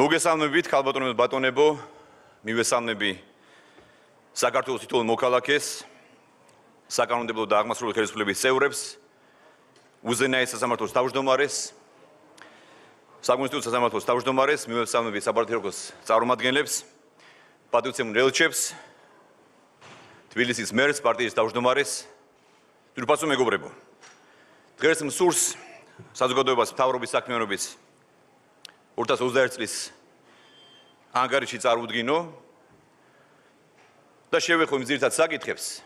მოგესალმებით, ქალბატონებო და ბატონებო, მივესალმები საქართველოს თითოეულ მოქალაქეს, საკანონმდებლო და აღმასრულებელი ხელისუფლების წევრებს, უზენაეს სასამართლოს თავმჯდომარეს, საკონსტიტუციო სასამართლოს თავმჯდომარეს, მივესალმები საპარტიო წარმომადგენლებს, პატრიოტულ ელჩებს, თბილისის მერს, პარტიის თავმჯდომარეს, თვითფასო მეგობრებო. დღეს მსურს საზოგადოებას მთავრობის საქმიანობის 2021 წლის ანგარიში წარუდგინო და შევეხო იმ ძირითად საკითხებს,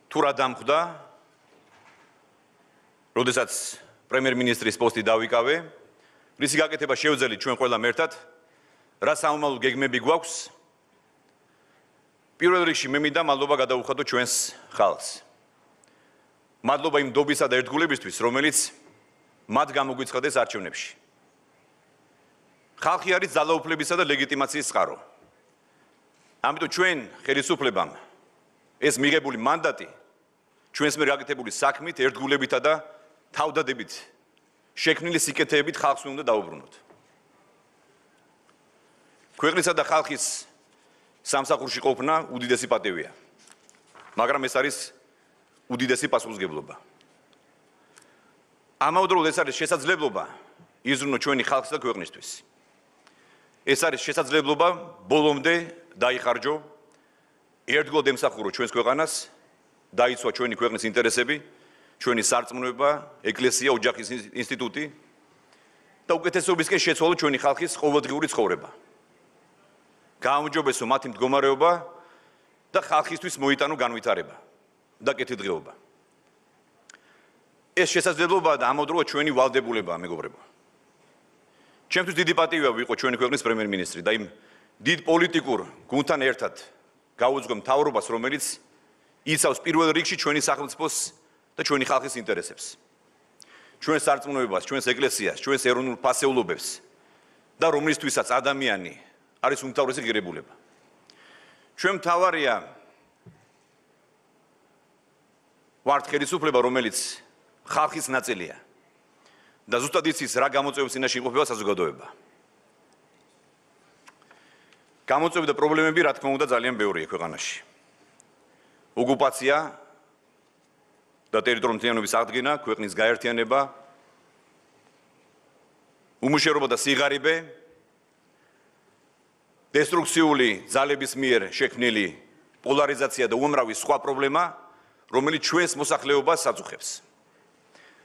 თუ რა დამხვდა, როდესაც პრემიერ-მინისტრის პოსტი დავიკავე, რისი გაკეთება შევძელით ჩვენ ყველამ ერთად, რა სამომავლო გეგმები გვაქვს, პირველ რიგში მე მინდა მადლობა გადავუხადო ჩვენს ხალხს. მადლობა იმ ნდობისა და ერთგულებისთვის, რომელიც მათ გამოგვიცხადეს არჩევნებში. ხალხი არის ძალაუფლებისა და ლეგიტიმაციის წყარო. ამიტომ ჩვენ ხელისუფლებამ ეს მიღებული მანდატი ჩვენს მიერ გაკეთებული საქმით, ერთგულებითა და თავდადებით შექმნილი სიკეთეებით ხალხს უნდა დაუბრუნოთ. ქვეყნისა და ხალხის სამსახურში ყოფნა უდიდესი პატივია, მაგრამ ეს არის უდიდესი პასუხისმგებლობა. ამავდროულად ეს არის შესაძლებლობა იზრუნოთ ჩვენი ხალხის და ქვეყნისთვის. ეს არის შესაძლებლობა ბოლომდე დაიხარჯო, ერთგულად ემსახუროთ ჩვენს ქვეყანას, დაიცვა ჩვენი ქვეყნის ინტერესები, ჩვენი სარწმუნოება, ეკლესია, ოჯახის ინსტიტუტი და უკეთესობისკენ შეცვალოთ ჩვენი ხალხის ყოველდღიური ცხოვრება. გააუმჯობესო მათი მდგომარეობა და ხალხისთვის მოიტანო განვითარება და კეთილდღეობა. ეს შესაძლებლობა და ამავდროულად ჩვენი ვალდებულებაა, მეგობრებო. ჩემთვის დიდი პატივია ვიყო ჩვენი ქვეყნის პრემიერ-მინისტრი და იმ დიდ პოლიტიკურ გუნდთან ერთად გავუძღვე მთავრობას, რომელიც იცავს პირველ რიგში ჩვენი სახელმწიფოს და ჩვენი ხალხის ინტერესებს. ჩვენს სარწმუნოებას, ჩვენს ეკლესიას, ჩვენს ეროვნულ ფასეულობებს და რომლისთვისაც ადამიანი არის უმთავრესი ღირებულება. ჩვენ მთავარია ვართ ხელისუფლება, რომელიც ხალხის ნაწილია და ზუსტად იცის რა გამოწვევების წინაშე იმყოფება საზოგადოება. გამოწვევები და პრობლემები, რა თქმა უნდა, ძალიან ბევრია ქვეყანაში. ოკუპაცია და ტერიტორიული მთლიანობის აღდგენა, ქვეყნის გაერთიანება, უმუშევრობა და სიღარიბე, დესტრუქციული ძალების მიერ შექმნილი პოლარიზაცია და უამრავი სხვა პრობლემა, რომელიც ჩვენს მოსახლეობას აწუხებს.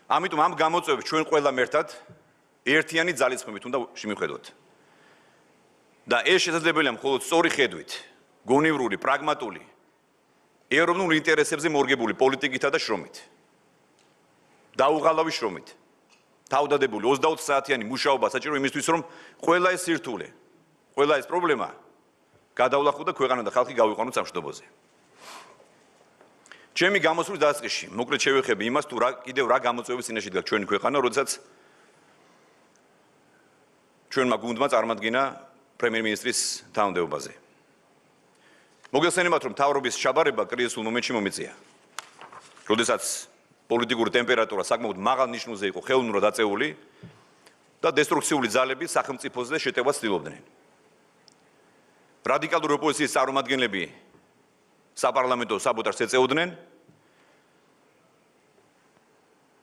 ამიტომ ამ გამოწვევებს ჩვენ ყველამ ერთად ერთიანი ძალისხმევით უნდა შევხედოთ. და ეს შესაძლებელია მხოლოდ სწორი ხედვით, გონივრული, პრაგმატული, ეროვნულ ინტერესებზე მორგებული პოლიტიკითა და შრომით. დაუღალავი შრომით. თავდადებული 24 საათიანი მუშაობა საჭირო იმისთვის, რომ ყველა ეს სირთულე, ყველა ეს პრობლემა გადავლახო და ქვეყანა და ხალხი გავიყვანოთ სამშვიდობოზე. ჩემი გამოსვლის დასაწყისში მოკლედ შევეხები იმას, თუ კიდევ რა გამოწვევების წინაშე დგას ჩვენი ქვეყანა, როდესაც ჩვენმა გუნდმა წარმატგინა პრემიერ-მინისტრის თანამდებობაზე. მოგეხსენებათ, რომ მთავრობის ჩაბარება კრიზისულ მომენტში მომიწია. როდესაც პოლიტიკური ტემპერატურა საკმაოდ მაღალ ნიშნულზე იყო ხელოვნურად აწეული და დესტრუქციული ძალები სახელმწიფოზე შეტევას ცდილობდნენ. რადიკალური ოპოზიციის წარმომადგენლები საპარლამენტო საბოტაჟს ეწეოდნენ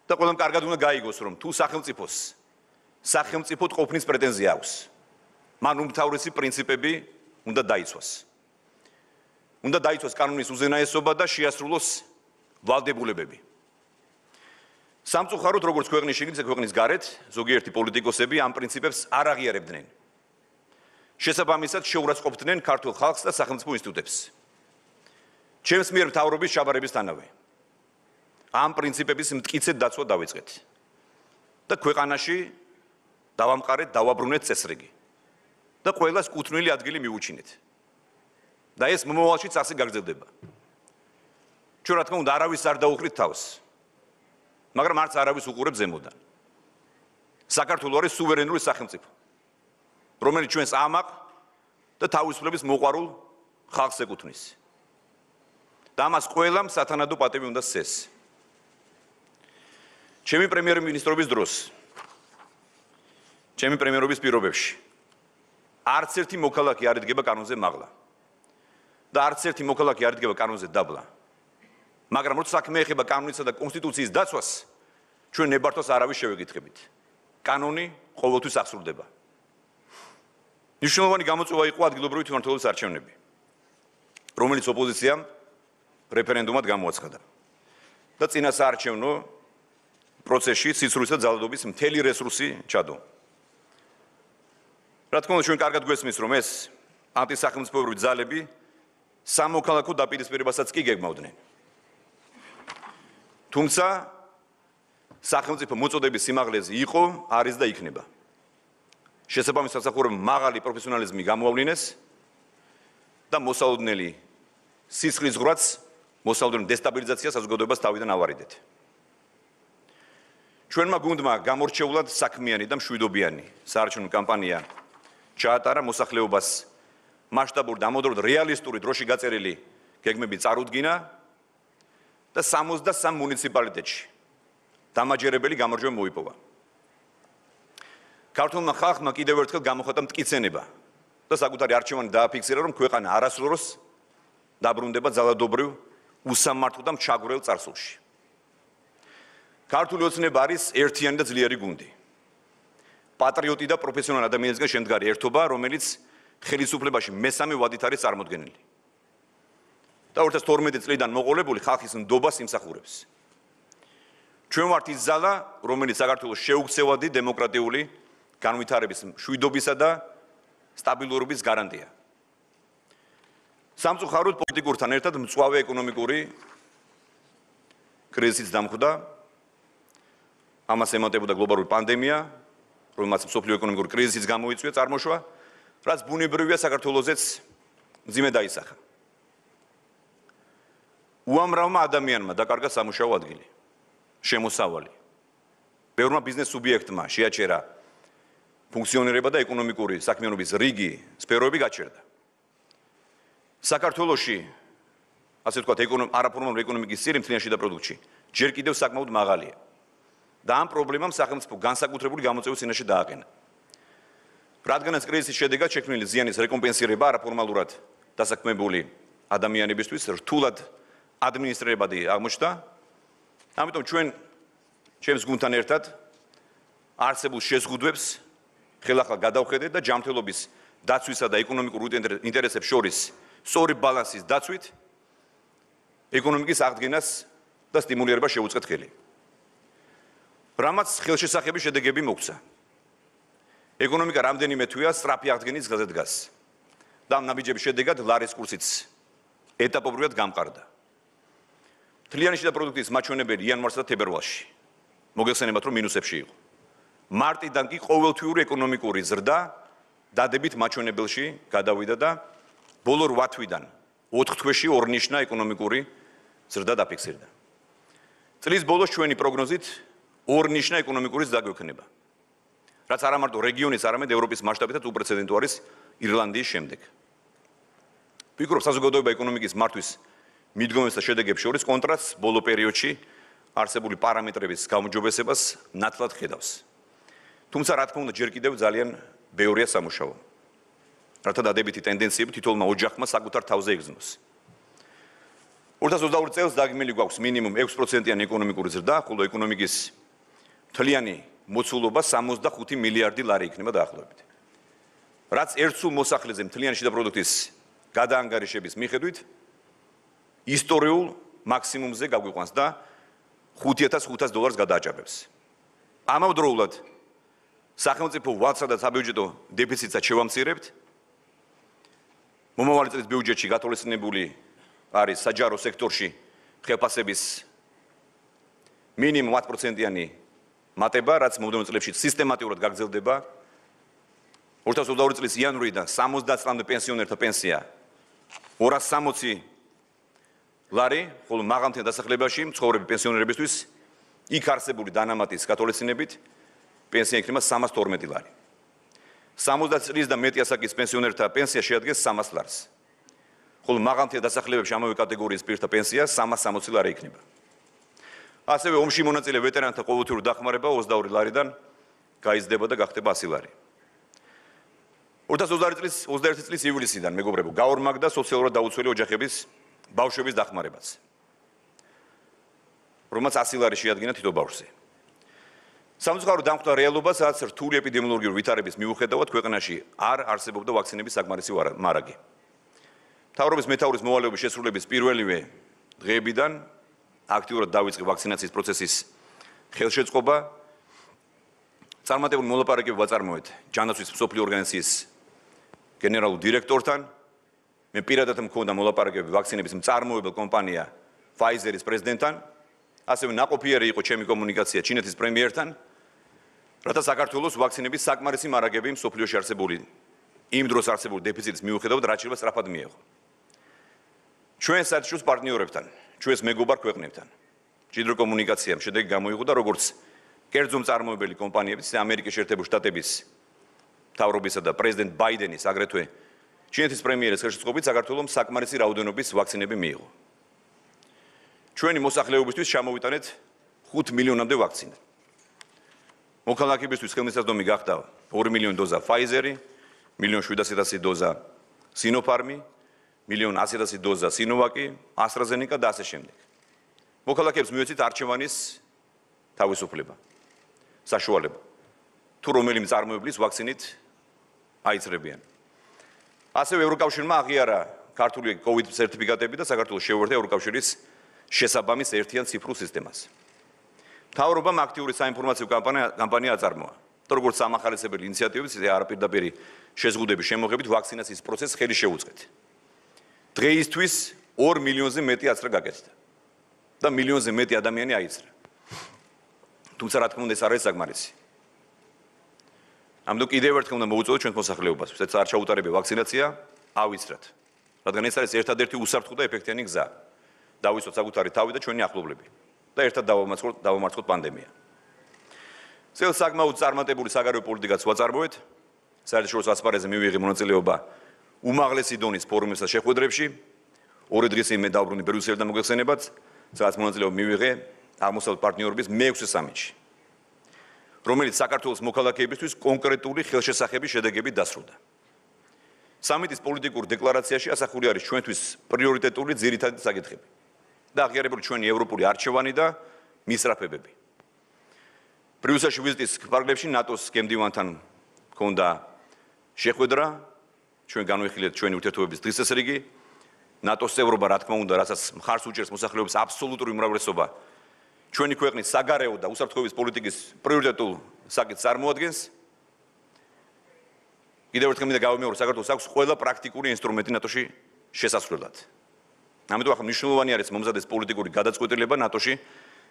და ყველამ კარგად უნდა გაიგოს, რომ თუ სახელმწიფოდ ყოფნის პრეტენზია აქვს, მან უმთავრესი პრინციპები უნდა დაიცვას. უნდა დაიცვას კანონის უზენაესობა და შეასრულოს ვალდებულებები. სამწუხაროდ, როგორც ქვეყნის შიგნით, ისე ქვეყნის გარეთ, ზოგიერთი პოლიტიკოსები ამ პრინციპებს არ აღიარებდნენ. შესაბამისად, შეურაცხყოფდნენ ქართულ ხალხს და სახელმწიფო ინსტიტუტებს. ჩემს მიერ მთავრობის ჩაბარებისთანავე ამ პრინციპების მტკიცედ დაცვა დავიწყეთ და ქვეყანაში დავამყარეთ, დავაბრუნეთ წესრიგი და ყველას კუთვნილი ადგილი მივუჩინეთ. და ეს მომავალშიც ასე გაგრძელდება. ჩვენ რა თქმა უნდა არავის არ დაუხლით თავს, მაგრამ არც არავის უყურებს ზემოდან. საქართველო არის სუვერენული სახელმწიფო, რომელიც ჩვენს ამაყ და თავისუფლების მოყვარულ ხალხს ეკუთვნის. და ამას ყველამ სათანადო პატივი უნდა სცეს. ჩემი პრემიერ-მინისტრობის დროს ჩემი პრემიერობის პირობებში. არც ერთი მოქალაქე არ იდგება კანონზე მაღლა. და არც ერთი მოქალაქე არ იდგება კანონზე დაბლა. მაგრამ როცა საქმე ეხება კანონისა და კონსტიტუციის დაცვას, ჩვენ ნებართვას არავის შევეკითხებით. კანონი ყოველთვის აღსრულდება. მნიშვნელოვანი გამოწვევა იყო ადგილობრივი თვითმმართველობის არჩევნები, რომელიც ოპოზიციამ რეფერენდუმად გამოაცხადა. და წინასაარჩევნო პროცესში სიცრუის და ძალადობის მთელი რესურსი ჩადო. რა თქმა უნდა, ჩვენ კარგად გვესმის, რომ ეს ანტისახელმწიფოებრივი ძალები სამოქალაქო დაპირისპირებასაც კი გეგმავდნენ. თუმცა სახელმწიფო მოწოდების სიმაღლეზე იყო, არის და იქნება. შესაბამის სამსახურებამ მაღალი პროფესიონალიზმი გამოავლინეს და მოსალოდნელი სისხლის ზღვრაც, მოსალოდნელი დესტაბილიზაცია საზოგადოებას თავიდან ავარიდეთ. ჩვენმა გუნდმა გამორჩეულად საქმიანი და მშვიდობიანი საარჩევნო კამპანია ჩაატარა, მოსახლეობას მასშტაბური და ამოდროდ რეალისტური დროში გაწერილი გეგმები წარუდგინა და 63 მუნიციპალიტეტში დამაჯერებელი გამარჯვება მოიპოვა. ქართულმა ხალხმა კიდევ ერთხელ გამოხატა მტკიცენება და საკუთარი არჩევანი დააფიქსირა, რომ ქვეყანა არასდროს დაბრუნდება ძალადობრივ, უსამართლო და მჩაგვრელ წარსულში. ქართული ოცნება არის ერთიანი და ძლიერი გუნდი. პატრიოტი და პროფესიონალი ადამიანებისგან შემდგარი ერთობა, რომელიც ხელისუფლებაში მესამე ვადით არის წარმოდგენილი. და 2012 წლიდან მოყოლებული ხალხის ნდობას იმსახურებს. ჩვენ ვართ ის ძალა, რომელიც საქართველოს შეუქცევადი დემოკრატიული განვითარების, მშვიდობისა და სტაბილურობის გარანტია. სამწუხაროდ პოლიტიკურთან ერთად მწვავე ეკონომიკური კრიზისიც დამხვდა. ამას ემატებოდა გლობალური პანდემია, რომელმაც მსოფლიო ეკონომიკური კრიზისიც გამოიწვია წარმოშვა, რაც ბუნებრივია საქართველოსზეც მძიმე დაისახა. უამრავმა ადამიანმა დაკარგა სამუშაო ადგილი, შემოსავალი. ბევრმა ბიზნეს სუბიექტმა შეაჩერა ფუნქციონირება და ეკონომიკური საქმიანობის რიგი სფეროები გაჩერდა. საქართველოში, ასე ვთქვათ, არაფორმალური ეკონომიკის წილი მთლიანში და პროდუქტში ჯერ კიდევ საკმაოდ მაღალია. და ამ პრობლემამ სახელმწიფო განსაკუთრებული გამოწვევის წინაშე დააყენა. რადგანაც კრიზისის შედეგად შექმნილი ზიანის რეკომპენსირება არაფორმალურად დასაქმებული ადამიანებისთვის რთულად ადმინისტრირებადი აღმოჩნდა. ამიტომ ჩვენ ჩემს გუნდთან ერთად არსებულ შეზღუდვებს ხელახლა გადავხედეთ და ჯანმრთელობის დაცვისა და ეკონომიკურ ინტერესებს შორის სწორი ბალანსის დაცვით ეკონომიკის აღდგენას და სტიმულირებას შეუწყეთ ხელი. რამაც ხელშესახები შედეგები მოგცა. ეკონომიკა რამდენიმე თვეა სწრაფი აღდგენის გზაზე დგას. და ამ ნაბიჯების შედეგად ლარის კურსიც ეტაპობრივად გამყარდა. მთლიანი შიდა პროდუქტის მაჩვენებელი იანვარსა და თებერვალში მოგეხსენებათ, რომ მინუსებში იყო. მარტიდან კი ყოველთვიური ეკონომიკური ზრდა დადებით მაჩვენებელში გადავიდა და ბოლო 8 თვიდან 4 თვეში ორნიშნა ეკონომიკური ზრდა დაფიქსირდა. წლის ბოლოს ჩვენი პროგნოზით ორნიშნა ეკონომიკური ზრდა გვექნება. რაც არა მარტო რეგიონის, არამედ ევროპის მასშტაბითაც უპრეცედენტო არის ირლანდიის შემდეგ. ვფიქრობ, საზოგადოება ეკონომიკის მართვის მიდგომებს და შედეგებს შორის კონტრასტს ბოლო პერიოდში არსებული პარამეტრების გაუმჯობესებას ნათლად ხედავს. თუმცა რა თქმა უნდა ჯერ კიდევ ძალიან ბევრია სამუშაო. რათა დადებითი ტენდენციები თითოეულმა ოჯახმა საკუთარ თავზე იგრძნოს. 2022 წელს დაგმილი გვაქვს მინიმუმ 6%-იანი ეკონომიკური ზრდა, ხოლო ეკონომიკის მთლიანი მოცულობა 65 მილიარდი ლარი იქნება დაახლოებით. რაც ერთ სულ მოსახლეზე მთლიანი შიდა პროდუქტის გადაანგარიშების მიხედვით ისტორიულ მაქსიმუმზე გაგვიყვანს და $5,500 გადააჭაბებს. ამავდროულად სახელმწიფო ვალსა და საბიუჯეტო დეფიციტსაც შევამცირებთ. მომავალი წლის ბიუჯეტში გათვალისწინებული არის საჯარო სექტორში ხელფასების მინიმუმ 10%-იანი მატება, რაც მომდევნო წლებში სისტემატურად გაგრძელდება. 2022 წლის იანვრიდან 70 წლამდე პენსიონერთა პენსია 260 ლარი, ხოლო მაღალმთიან დასახლებაში მცხოვრები პენსიონერებისთვის იქ არსებული დანამატის გათვალისწინებით პენსია იქნება 312 ლარი. 70 წლის და მეტი ასაკის პენსიონერთა პენსია შეადგენს 300 ლარს. ხოლო მაღალმთიან დასახლებებში ამავე კატეგორიის პირთა პენსია 360 ლარი იქნება. ასევე ომში მონაწილე ვეტერანთა ყოველთვიური დახმარება 22 ლარიდან გაიზრდება და გახდება 100 ლარი. 2021 წლის ივლისიდან მეგობრებო, გაორმაგდა სოციალურად დაუცველი ოჯახების ბავშვების დახმარებაც, რომელმაც 100 ლარი შეადგინა თითო ბავშვზე. სამწუხაროდ დამხვდა რეალობა, სადაც რთული ეპიდემიოლოგიური ვითარების მიუხედავად ქვეყანაში არ არსებობდა ვაქცინების საკმარისი მარაგი. მთავრობის მეთაურის მოვალეობის შესრულების პირველივე დღეებიდან აქტიურად დავიწყე ვაქცინაციის პროცესის ხელშეწყობა. წარმატებული მოლაპარაკებები ვაწარმოეთ ჯანაცვის მსოფლიო ორგანიზაციის გენერალურ დირექტორთან. მე პირადად მქონდა მოლაპარაკებები ვაქცინების მწარმოებელ კომპანია Pfizer-ის პრეზიდენტთან. ასევე ნაყოფიერი იყო ჩემი კომუნიკაცია ჩინეთის პრემიერთან, რათა საქართველოს ვაქცინების საკმარისი მარაგები მსოფლიოში არსებული იმ დროს არსებული დეფიციტის მიუხედავად რაჭირება სწრაფად მიეღო. ჩვენ საერთაშორისო პარტნიორებთან, ჩვენს მეგობარ ქვეყნებთან მჭიდრო კომუნიკაციამ შედეგი გამოიღო და როგორც კერძო მწარმოებელი კომპანიების, ამერიკის შეერთებული შტატების მთავრობისა და პრეზიდენტ ბაიდენის, აგრეთვე ჩინეთის პრემიერის ხელშეწყობით საქართველოს საკმარისი რაოდენობის ვაქცინები მიიღო. ჩვენი მოსახლეობისთვის ჩამოვიტანეთ 5 მილიონამდე ვაქცინა. მოქალაქეებისთვის ხელმისაწვდომი გახდა 2 მილიონი დოზა Pfizer-ი, 1.7 მილიონი დოზა Sinopharm-ი, 1.1 მილიონი დოზა Sinovac-ი, AstraZeneca და ასე შემდეგ. მოქალაქეებს მიეცით არჩევანის თავისუფლება, საშუალება, თუ რომელი მწარმოებლის ვაქცინით აიწრებიან. ასევე ევროკავშირმა აღიარა ქართული COVID სერტიფიკატები და საქართველოს შეუერთდა ევროკავშირის შესაბამის ერთიან ციფრულ სისტემას. მთავრობამ აქტიური საინფორმაციო კამპანია აწარმოა. როგორც სამახარისებელი ინიციატივით, ისე არაპირდაპირი შეზღუდების შემოღებით ვაქცინაციის პროცესს ხელი შეუწყეთ. დღეისთვის 2 მილიონზე მეტი აცრა გაკეთდა და მილიონზე მეტი ადამიანი აიწრა. თუმცა რა თქმა უნდა ეს არ არის საკმარისი. ამიტომ კიდევ ერთხელ უნდა მოვუწოდოთ ჩვენს მოსახლეობას, ვისაც არ ჩაუტარებია ვაქცინაცია, ავიცრათ. რადგან ეს არის ერთადერთი უსაფრთხო და ეფექტიანი გზა. დავიცოთ საკუთარი თავი და ჩვენი ახლობლები და ერთად დავამარცხოთ პანდემია. წელს საკმაოდ წარმატებული საგარეო პოლიტიკაც ვაწარმოეთ. საერთაშორისო ასპარეზზე მივიღე მონაწილეობა უმაღლესი დონის ფორუმებსა და შეხვედრებში. 2 დღის წინ მე დავბრუნდი ბრიუსელიდან მოგეხსენებათ, სადაც მონაწილეობა მივიღე აღმოსავლეთ პარტნიორობის მე-6 სამიტში, რომელიც საქართველოს მოქალაქეებისთვის კონკრეტული ხელშესახების შედეგებით დასრულდა. სამიტის პოლიტიკურ დეკლარაციაში ასახული არის ჩვენთვის პრიორიტეტული ძირითადი საკითხები და აღიარებული ჩვენი ევროპული არჩევანი და მისწრაფებები. ბრიუსელში ვიზიტის ფარგლებში ნატოს გემდივანთან ჰქონდა შეხვედრა, ჩვენ განვიხილეთ ჩვენი ურთიერთობების დღესასრიგი, ნატოს წევრობა, რა თქმა უნდა, რასაც მხარს უჭერს მოსახლეობის აბსოლუტური უმრავლესობა, ჩვენი ქვეყნის საგარეო და უსაფრთხოების პოლიტიკის პრიორიტეტულ საკითხს წარმოადგენს. კიდევ ერთხელ მინდა გავიმეორო, საქართველოს აქვს ყველა პრაქტიკული ინსტრუმენტი ნატოში შესასვლელად. ამიტომ ახლა მნიშვნელოვანი არის მომზადეს პოლიტიკური გადაწყვეტილება ნატოში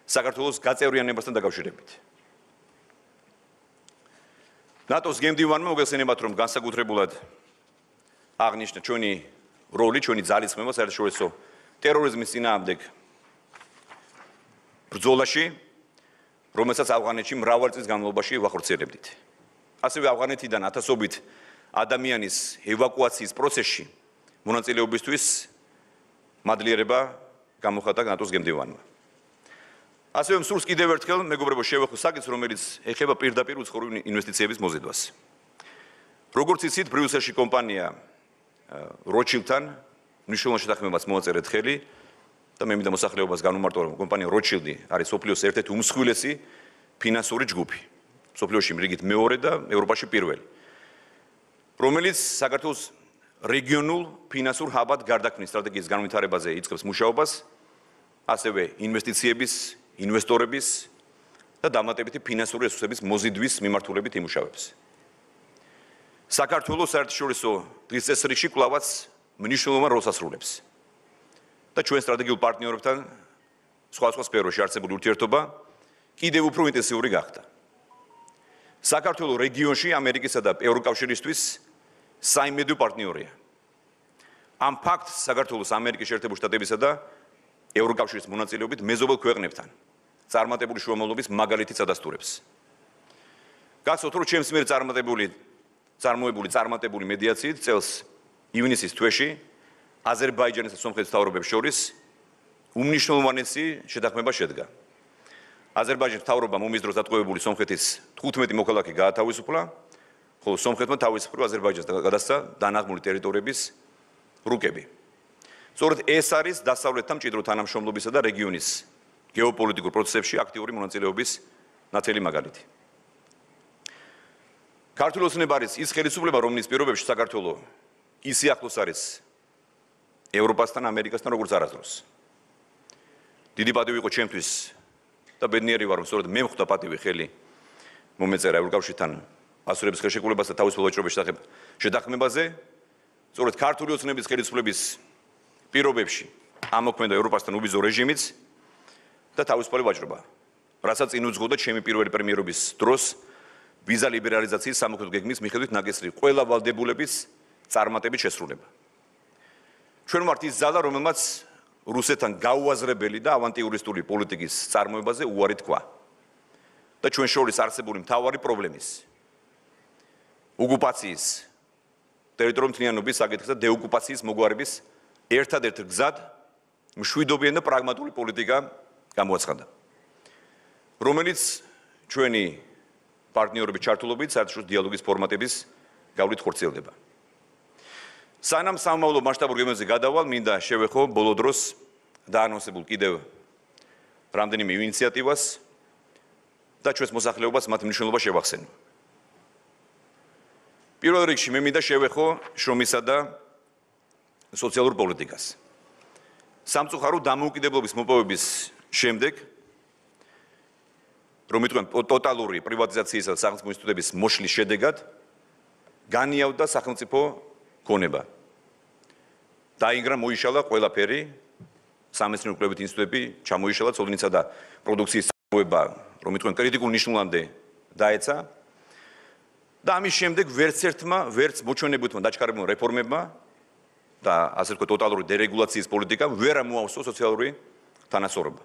საქართველოს გაწევრიანებასთან დაკავშირებით. ნატოს გემდივანმა მოგეხსენებათ, რომ განსაკუთრებულად აღნიშნა ჩვენი როლი, ჩვენი ძალისხმევა საერთაშორისო ტერორიზმის წინააღმდეგ ბრძოლაში, რომელსაც ავღანეთში მრავალი წლის განმავლობაში ვახორციელებდით. ასევე ავღანეთიდან ათასობით ადამიანის ევაკუაციის პროცესში მონაწილეობისთვის მადლიერება გამოხატა ნატოს გემდივანმა. ასევე მსურს კიდევ ერთხელ მეგობრებო შევეხო საკითხს, რომელიც ეხება პირდაპირ უცხოური ინვესტიციების მოზიდვას. როგორც იცით, ბრიუსელში კომპანია როჩილდთან მნიშვნელოვან შეთანხმებას მოაწერეთ ხელი და მე მინდა მოსახლეობას განუმარტო, რომ კომპანია როჩილდი არის სოფლიოს ერთ-ერთი უმსხვილესი ფინანსური ჯგუფი. სოფლიოში რიგით მეორე და ევროპაში პირველი, რომელიც საქართველოს რეგიონულ ფინანსურ ჰაბად გარდაქმნის სტრატეგიის განვითარებაზე იწყებს მუშაობას, ასევე ინვესტიციების, ინვესტორების და დამატებითი ფინანსური რესურსების მოზიდვის მიმართულებით იმუშავებს. საქართველოს საერთაშორისო დღის წესრიგში კვლავაც მნიშვნელოვან როლს ასრულებს და ჩვენ სტრატეგიულ პარტნიორებთან სხვადასხვა სფეროში არსებული ურთიერთობა კიდევ უფრო ინტენსიური გახდა. საქართველოს რეგიონში ამერიკისა და ევროკავშირისთვის საიმედო პარტნიორია. ამ ფაქტს საქართველოს ამერიკის შეერთებული შტატებისა და ევროკავშირის მონაწილეობით მეზობელ ქვეყნებთან წარმატებული შუამავლობის მაგალითიც ადასტურებს. გახსოვთ, რომ ჩემს მიერ წარმატებული მედიაციით წელს ივნისის თვეში აზერბაიჯანის და სომხეთის მთავრობებს შორის უმნიშვნელოვანესი შეთანხმება შედგა. აზერბაიჯანის მთავრობამ ომის დროს დატყვევებული სომხეთის 15 მოქალაქე გაათავისუფლა, ხოლო სომხეთმა თავის მხრივ აზერბაიჯანს გადასცა დანაღმული ტერიტორიების რუკები. სწორედ ეს არის დასავლეთთან მჭიდრო თანამშრომლობისა და რეგიონის გეოპოლიტიკურ პროცესებში აქტიური მონაწილეობის ნათელი მაგალითი. ქართული ოცნება არის ის ხელისუფლება, რომლის პირობებში საქართველო ისე ახლოს არის ევროპასთან, ამერიკასთან, როგორც არასდროს. დიდი პატივი იყო ჩემთვის და ბედნიერი ვარ, რომ სწორედ მე მხვდა პატივი ხელი მომეწერა ევროკავშირთან ასურების ხელშეკრულებას და თავისუფალ ვაჭრობის შეთანხმებაზე. სწორედ ქართული ოცნების ხელისუფლების პირობებში ამოქმედა ევროპასთან უბიძო რეჟიმიც და თავისუფალი ვაჭრობა, რასაც წინ უძღოდა ჩემი პირველი პრემიერობის დროს ვიზა ლიბერალიზაციის სამოქმედო გეგმის მიხედვით ნაკისრი ყველა ვალდებულების წარმატებით შესრულება. ჩვენ ვართ ის ძალა, რომელმაც რუსეთთან გაუაზრებელი და ავანტიურისტული პოლიტიკის წარმოებაზე უარი თქვა და ჩვენ შორის არსებული მთავარი პრობლემის ოკუპაციის, ტერიტორიული მთლიანობის საკითხის და დეოკუპაციის მოგვარების ერთადერთ გზად მშვიდობიანი და პრაგმატული პოლიტიკა გამოაცხადა, რომელიც ჩვენი პარტნიორების ჩართულობით საერთაშორისო დიალოგის ფორმატების გავლით ხორციელდება. სანამ სამომავლო მასშტაბურ გეგმებზე გადავალ, მინდა შევეხო ბოლო დროს დაანონსებულ კიდევ რამდენიმე ინიციატივას და ჩვენს მოსახლეობას მათ მნიშვნელობა შევახსენო. პირველ რიგში მე მინდა შევეხო შრომისა და სოციალურ პოლიტიკას. სამწუხარო დამოუკიდებლობის მოპოვების შემდეგ, რომ იტყვიან ტოტალური პრივატიზაციისა და სახელმწიფო ინსტიტუტების მოშლის შედეგად, განიავდა სახელმწიფო ქონება. დაინგრა, მოიშალა ყველაფერი, სამეცნიერო კვლევით ინსტიტუტები ჩამოიშალა, ცოდნისა და პროდუქციის წარმოება, რომ იტყვიან კრიტიკულ ნიშნულამდე დაეცა. და ამის შემდეგ ვერც ერთმა, ვერც მოჩვენებულმა დაჩქარებულმა რეფორმებმა და ასე ვთქვათ ტოტალური დერეგულაციის პოლიტიკამ ვერ ამოავსო სოციალური თანასწორობა.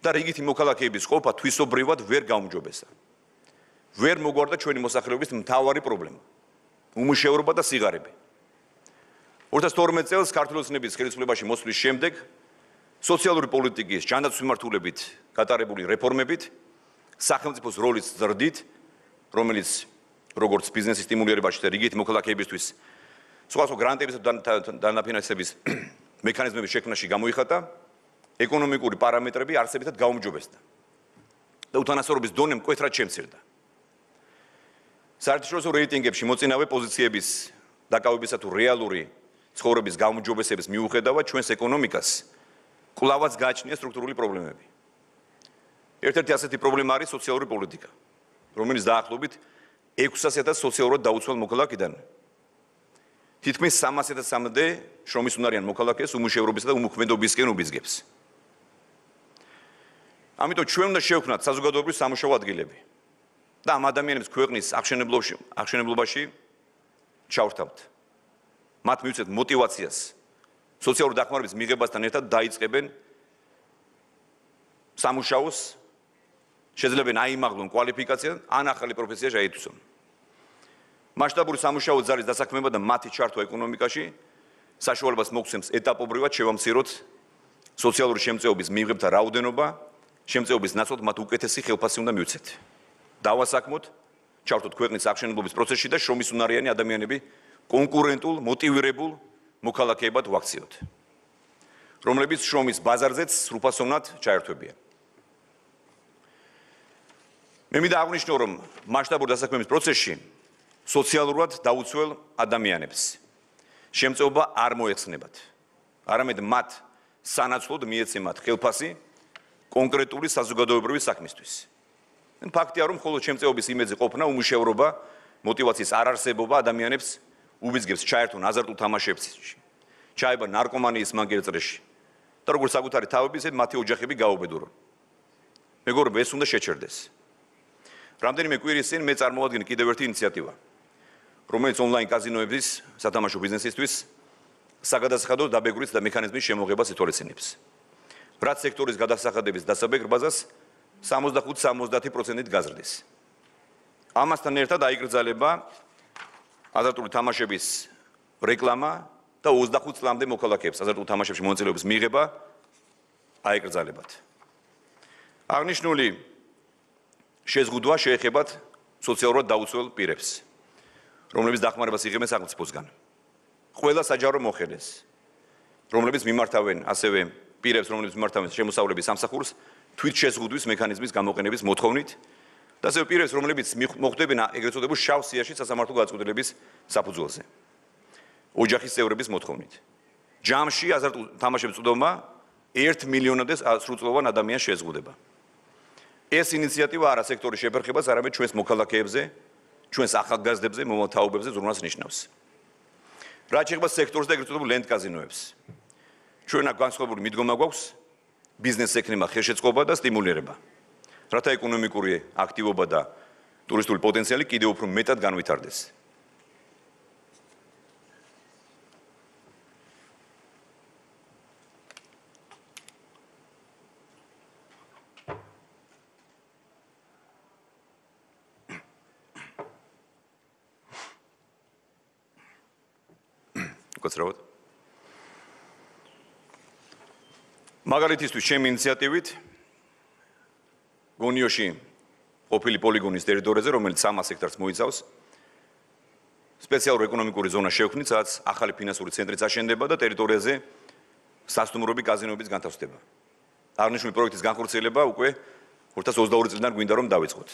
და რიგითი მოქალაქეების ყოფა თვისობრივად ვერ გაუმჯობესა. ვერ მოგვარდა ჩვენი მოსახლეობის მთავარი პრობლემა, უმუშევრობა და სიღარიბე. 2012 წელს ქართული ოცნების ხელისუფლებაში მოსვლის შემდეგ სოციალური პოლიტიკის ჯანდაცვის მიმართულებით გატარებული რეფორმებით სახელმწიფოს როლის ზრდით, რომელიც როგორც ბიზნესის სტიმულირებაში და რიგითი მოქალაქეებისთვის სხვადასხვა გრანტების და დანაფინანსების მექანიზმების შექმნაში გამოიხატა, ეკონომიკური პარამეტრები არსებითად გაუმჯობესდა და უთანასწორობის დონე მკვეთრად შემცირდა. საერთაშორისო რეიტინგებში მოწინავე პოზიციების დაკავებისა თუ რეალური ცხოვრების გაუმჯობესების მიუხედავად ჩვენს ეკონომიკას კვლავაც გააჩნია სტრუქტურული პრობლემები. ერთ-ერთი ასეთი პრობლემა არის სოციალური პოლიტიკა, რომელიც დაახლოებით 600,000 სოციალურად დაუცველ მოქალაქიდან თითქმის 300,000-მდე შრომის უნარიან მოქალაქეს უმუშევრობისა და უმოქმედობისკენ უბიძგებს. ამიტომ ჩვენ უნდა შევქმნათ საზოგადოებრივი სამუშაო ადგილები და ამ ადამიანებს ქვეყნის აღშენებლობაში ჩავრთავთ. მათ მივცეთ мотивაციას სოციალური დახმარების მიღებასთან ერთად დაიწყებენ სამუშაოს, შეძლებენ აიმაღლონ კვალიფიკაცია, ან ახალი პროფესია შეითვისონ. მასშტაბური სამუშაო ძალის დასაქმება და მათი ჩართვა ეკონომიკაში საშუალებას მოგცემს ეტაპობრივად შევამციროთ სოციალური შემწეობის მიღებთა რაოდენობა, შემწეობის ნაცვლად მათ უკეთესი ხელფასი უნდა მივცეთ. დავასაქმოთ, ჩავთოთ ქვეყნის აღშენებლობის პროცესში და შრომის უნარიანი ადამიანები კონკურენტულ, მოტივირებულ მოქალაქეებად ვაქციოთ, რომლებიც შრომის ბაზარზეც სრულფასოვნად ჩაერთვებიან. მე მინდა აღვნიშნო, რომ მასშტაბური დასაქმების პროცესში სოციალურად დაუცველ ადამიანებს შემწეობა არ მოეხსნებათ, არამედ მათ სანაცვლოდ მიეცემათ ხელფასი კონკრეტული საზოგადოებრივი საქმისთვის. ფაქტია, რომ მხოლოდ შემწეობის იმედზე ყოფნა, უმუშევრობა, мотивაციის არარსებობა ადამიანებს უბიძგებს ჩაერთონ აზარტულ თამაშებში, ჩაება ნარკომანიის მანგერწრეში და როგორც საკუთარი თავები, ისე მათი ოჯახები გაუბედურონ. მეგობრებო, ეს უნდა შეჩერდეს. რამდენიმე კვირის წინ მე წარმოვადგინე კიდევ ერთი ინიციატივა, რომელიც ონლაინ კაზინოების სათამაშო ბიზნესისთვის საგადასახადო დაბეგვრის და მექანიზმის შემოღებას ითვალისწინებს. რაც სექტორის გადასახადების დასაბეგრბაზას 65-70%-ით გაზრდის. ამასთან ერთად აიკრძალება აზარტული თამაშების რეკლამა და 25 წლამდე მოქალაქეებს აზარტულ თამაშებში მონაწილეობის მიღება აიკრძალებათ. აღნიშნული შეზღუდვა შეეხებათ სოციალურად დაუცველ პირებს, რომლებიც დახმარებას იღებენ სახელმწიფოსგან. ყველა საჯარო მოხელეს, რომლებიც მიმართავენ ასევე პირებს, რომლებიც მიმართავენ შემოსავლების სამსახურს, თვითშეზღუდვის მექანიზმის გამოყენების მოთხოვნით და ასევე პირებს, რომლებიც მოხვდებიან ეგრეთ წოდებულ შავ სიაში სასამართლო გადაწყვეტილების საფუძველზე. ოჯახის წევრების მოთხოვნით. ჯამში აზარტულ თამაშების წვდომა 1 მილიონამდე სრულწლოვან ადამიანს შეზღუდება. ეს ინიციატივა არა სექტორის შეფერხებას, არამედ ჩვენს მოქალაქეებზე, ჩვენს ახალგაზრდებზე, მომთაობებზე ზრუნვას ნიშნავს. რაც შეეხება სექტორს და ეგრეთ წოდებულ ლენდ კაზინოებს. ჩვენ აქ განსხვავებული მიდგომა გვაქვს ბიზნესს ექნება ხელშეწყობა და სტიმულირება. რათა ეკონომიკური აქტივობა და ტურისტული პოტენციალი კიდევ უფრო მეტად განვითარდეს. უკაცრავად. მაგალითისთვის ჩემი ინიციატივით გონიოში ყოფილი პოლიგონის ტერიტორიაზე, რომელიც 300 ჰექტარს მოიცავს, სპეციალური ეკონომიკური ზონა შევქმნით, სადაც ახალი ფინანსური ცენტრიც აშენდება და ტერიტორიაზე სასტუმროები, კაზინოებიც განთავსდება. აღნიშნული პროექტის განხორციელება უკვე 2022 წლიდან გვინდა რომ დავიწყოთ.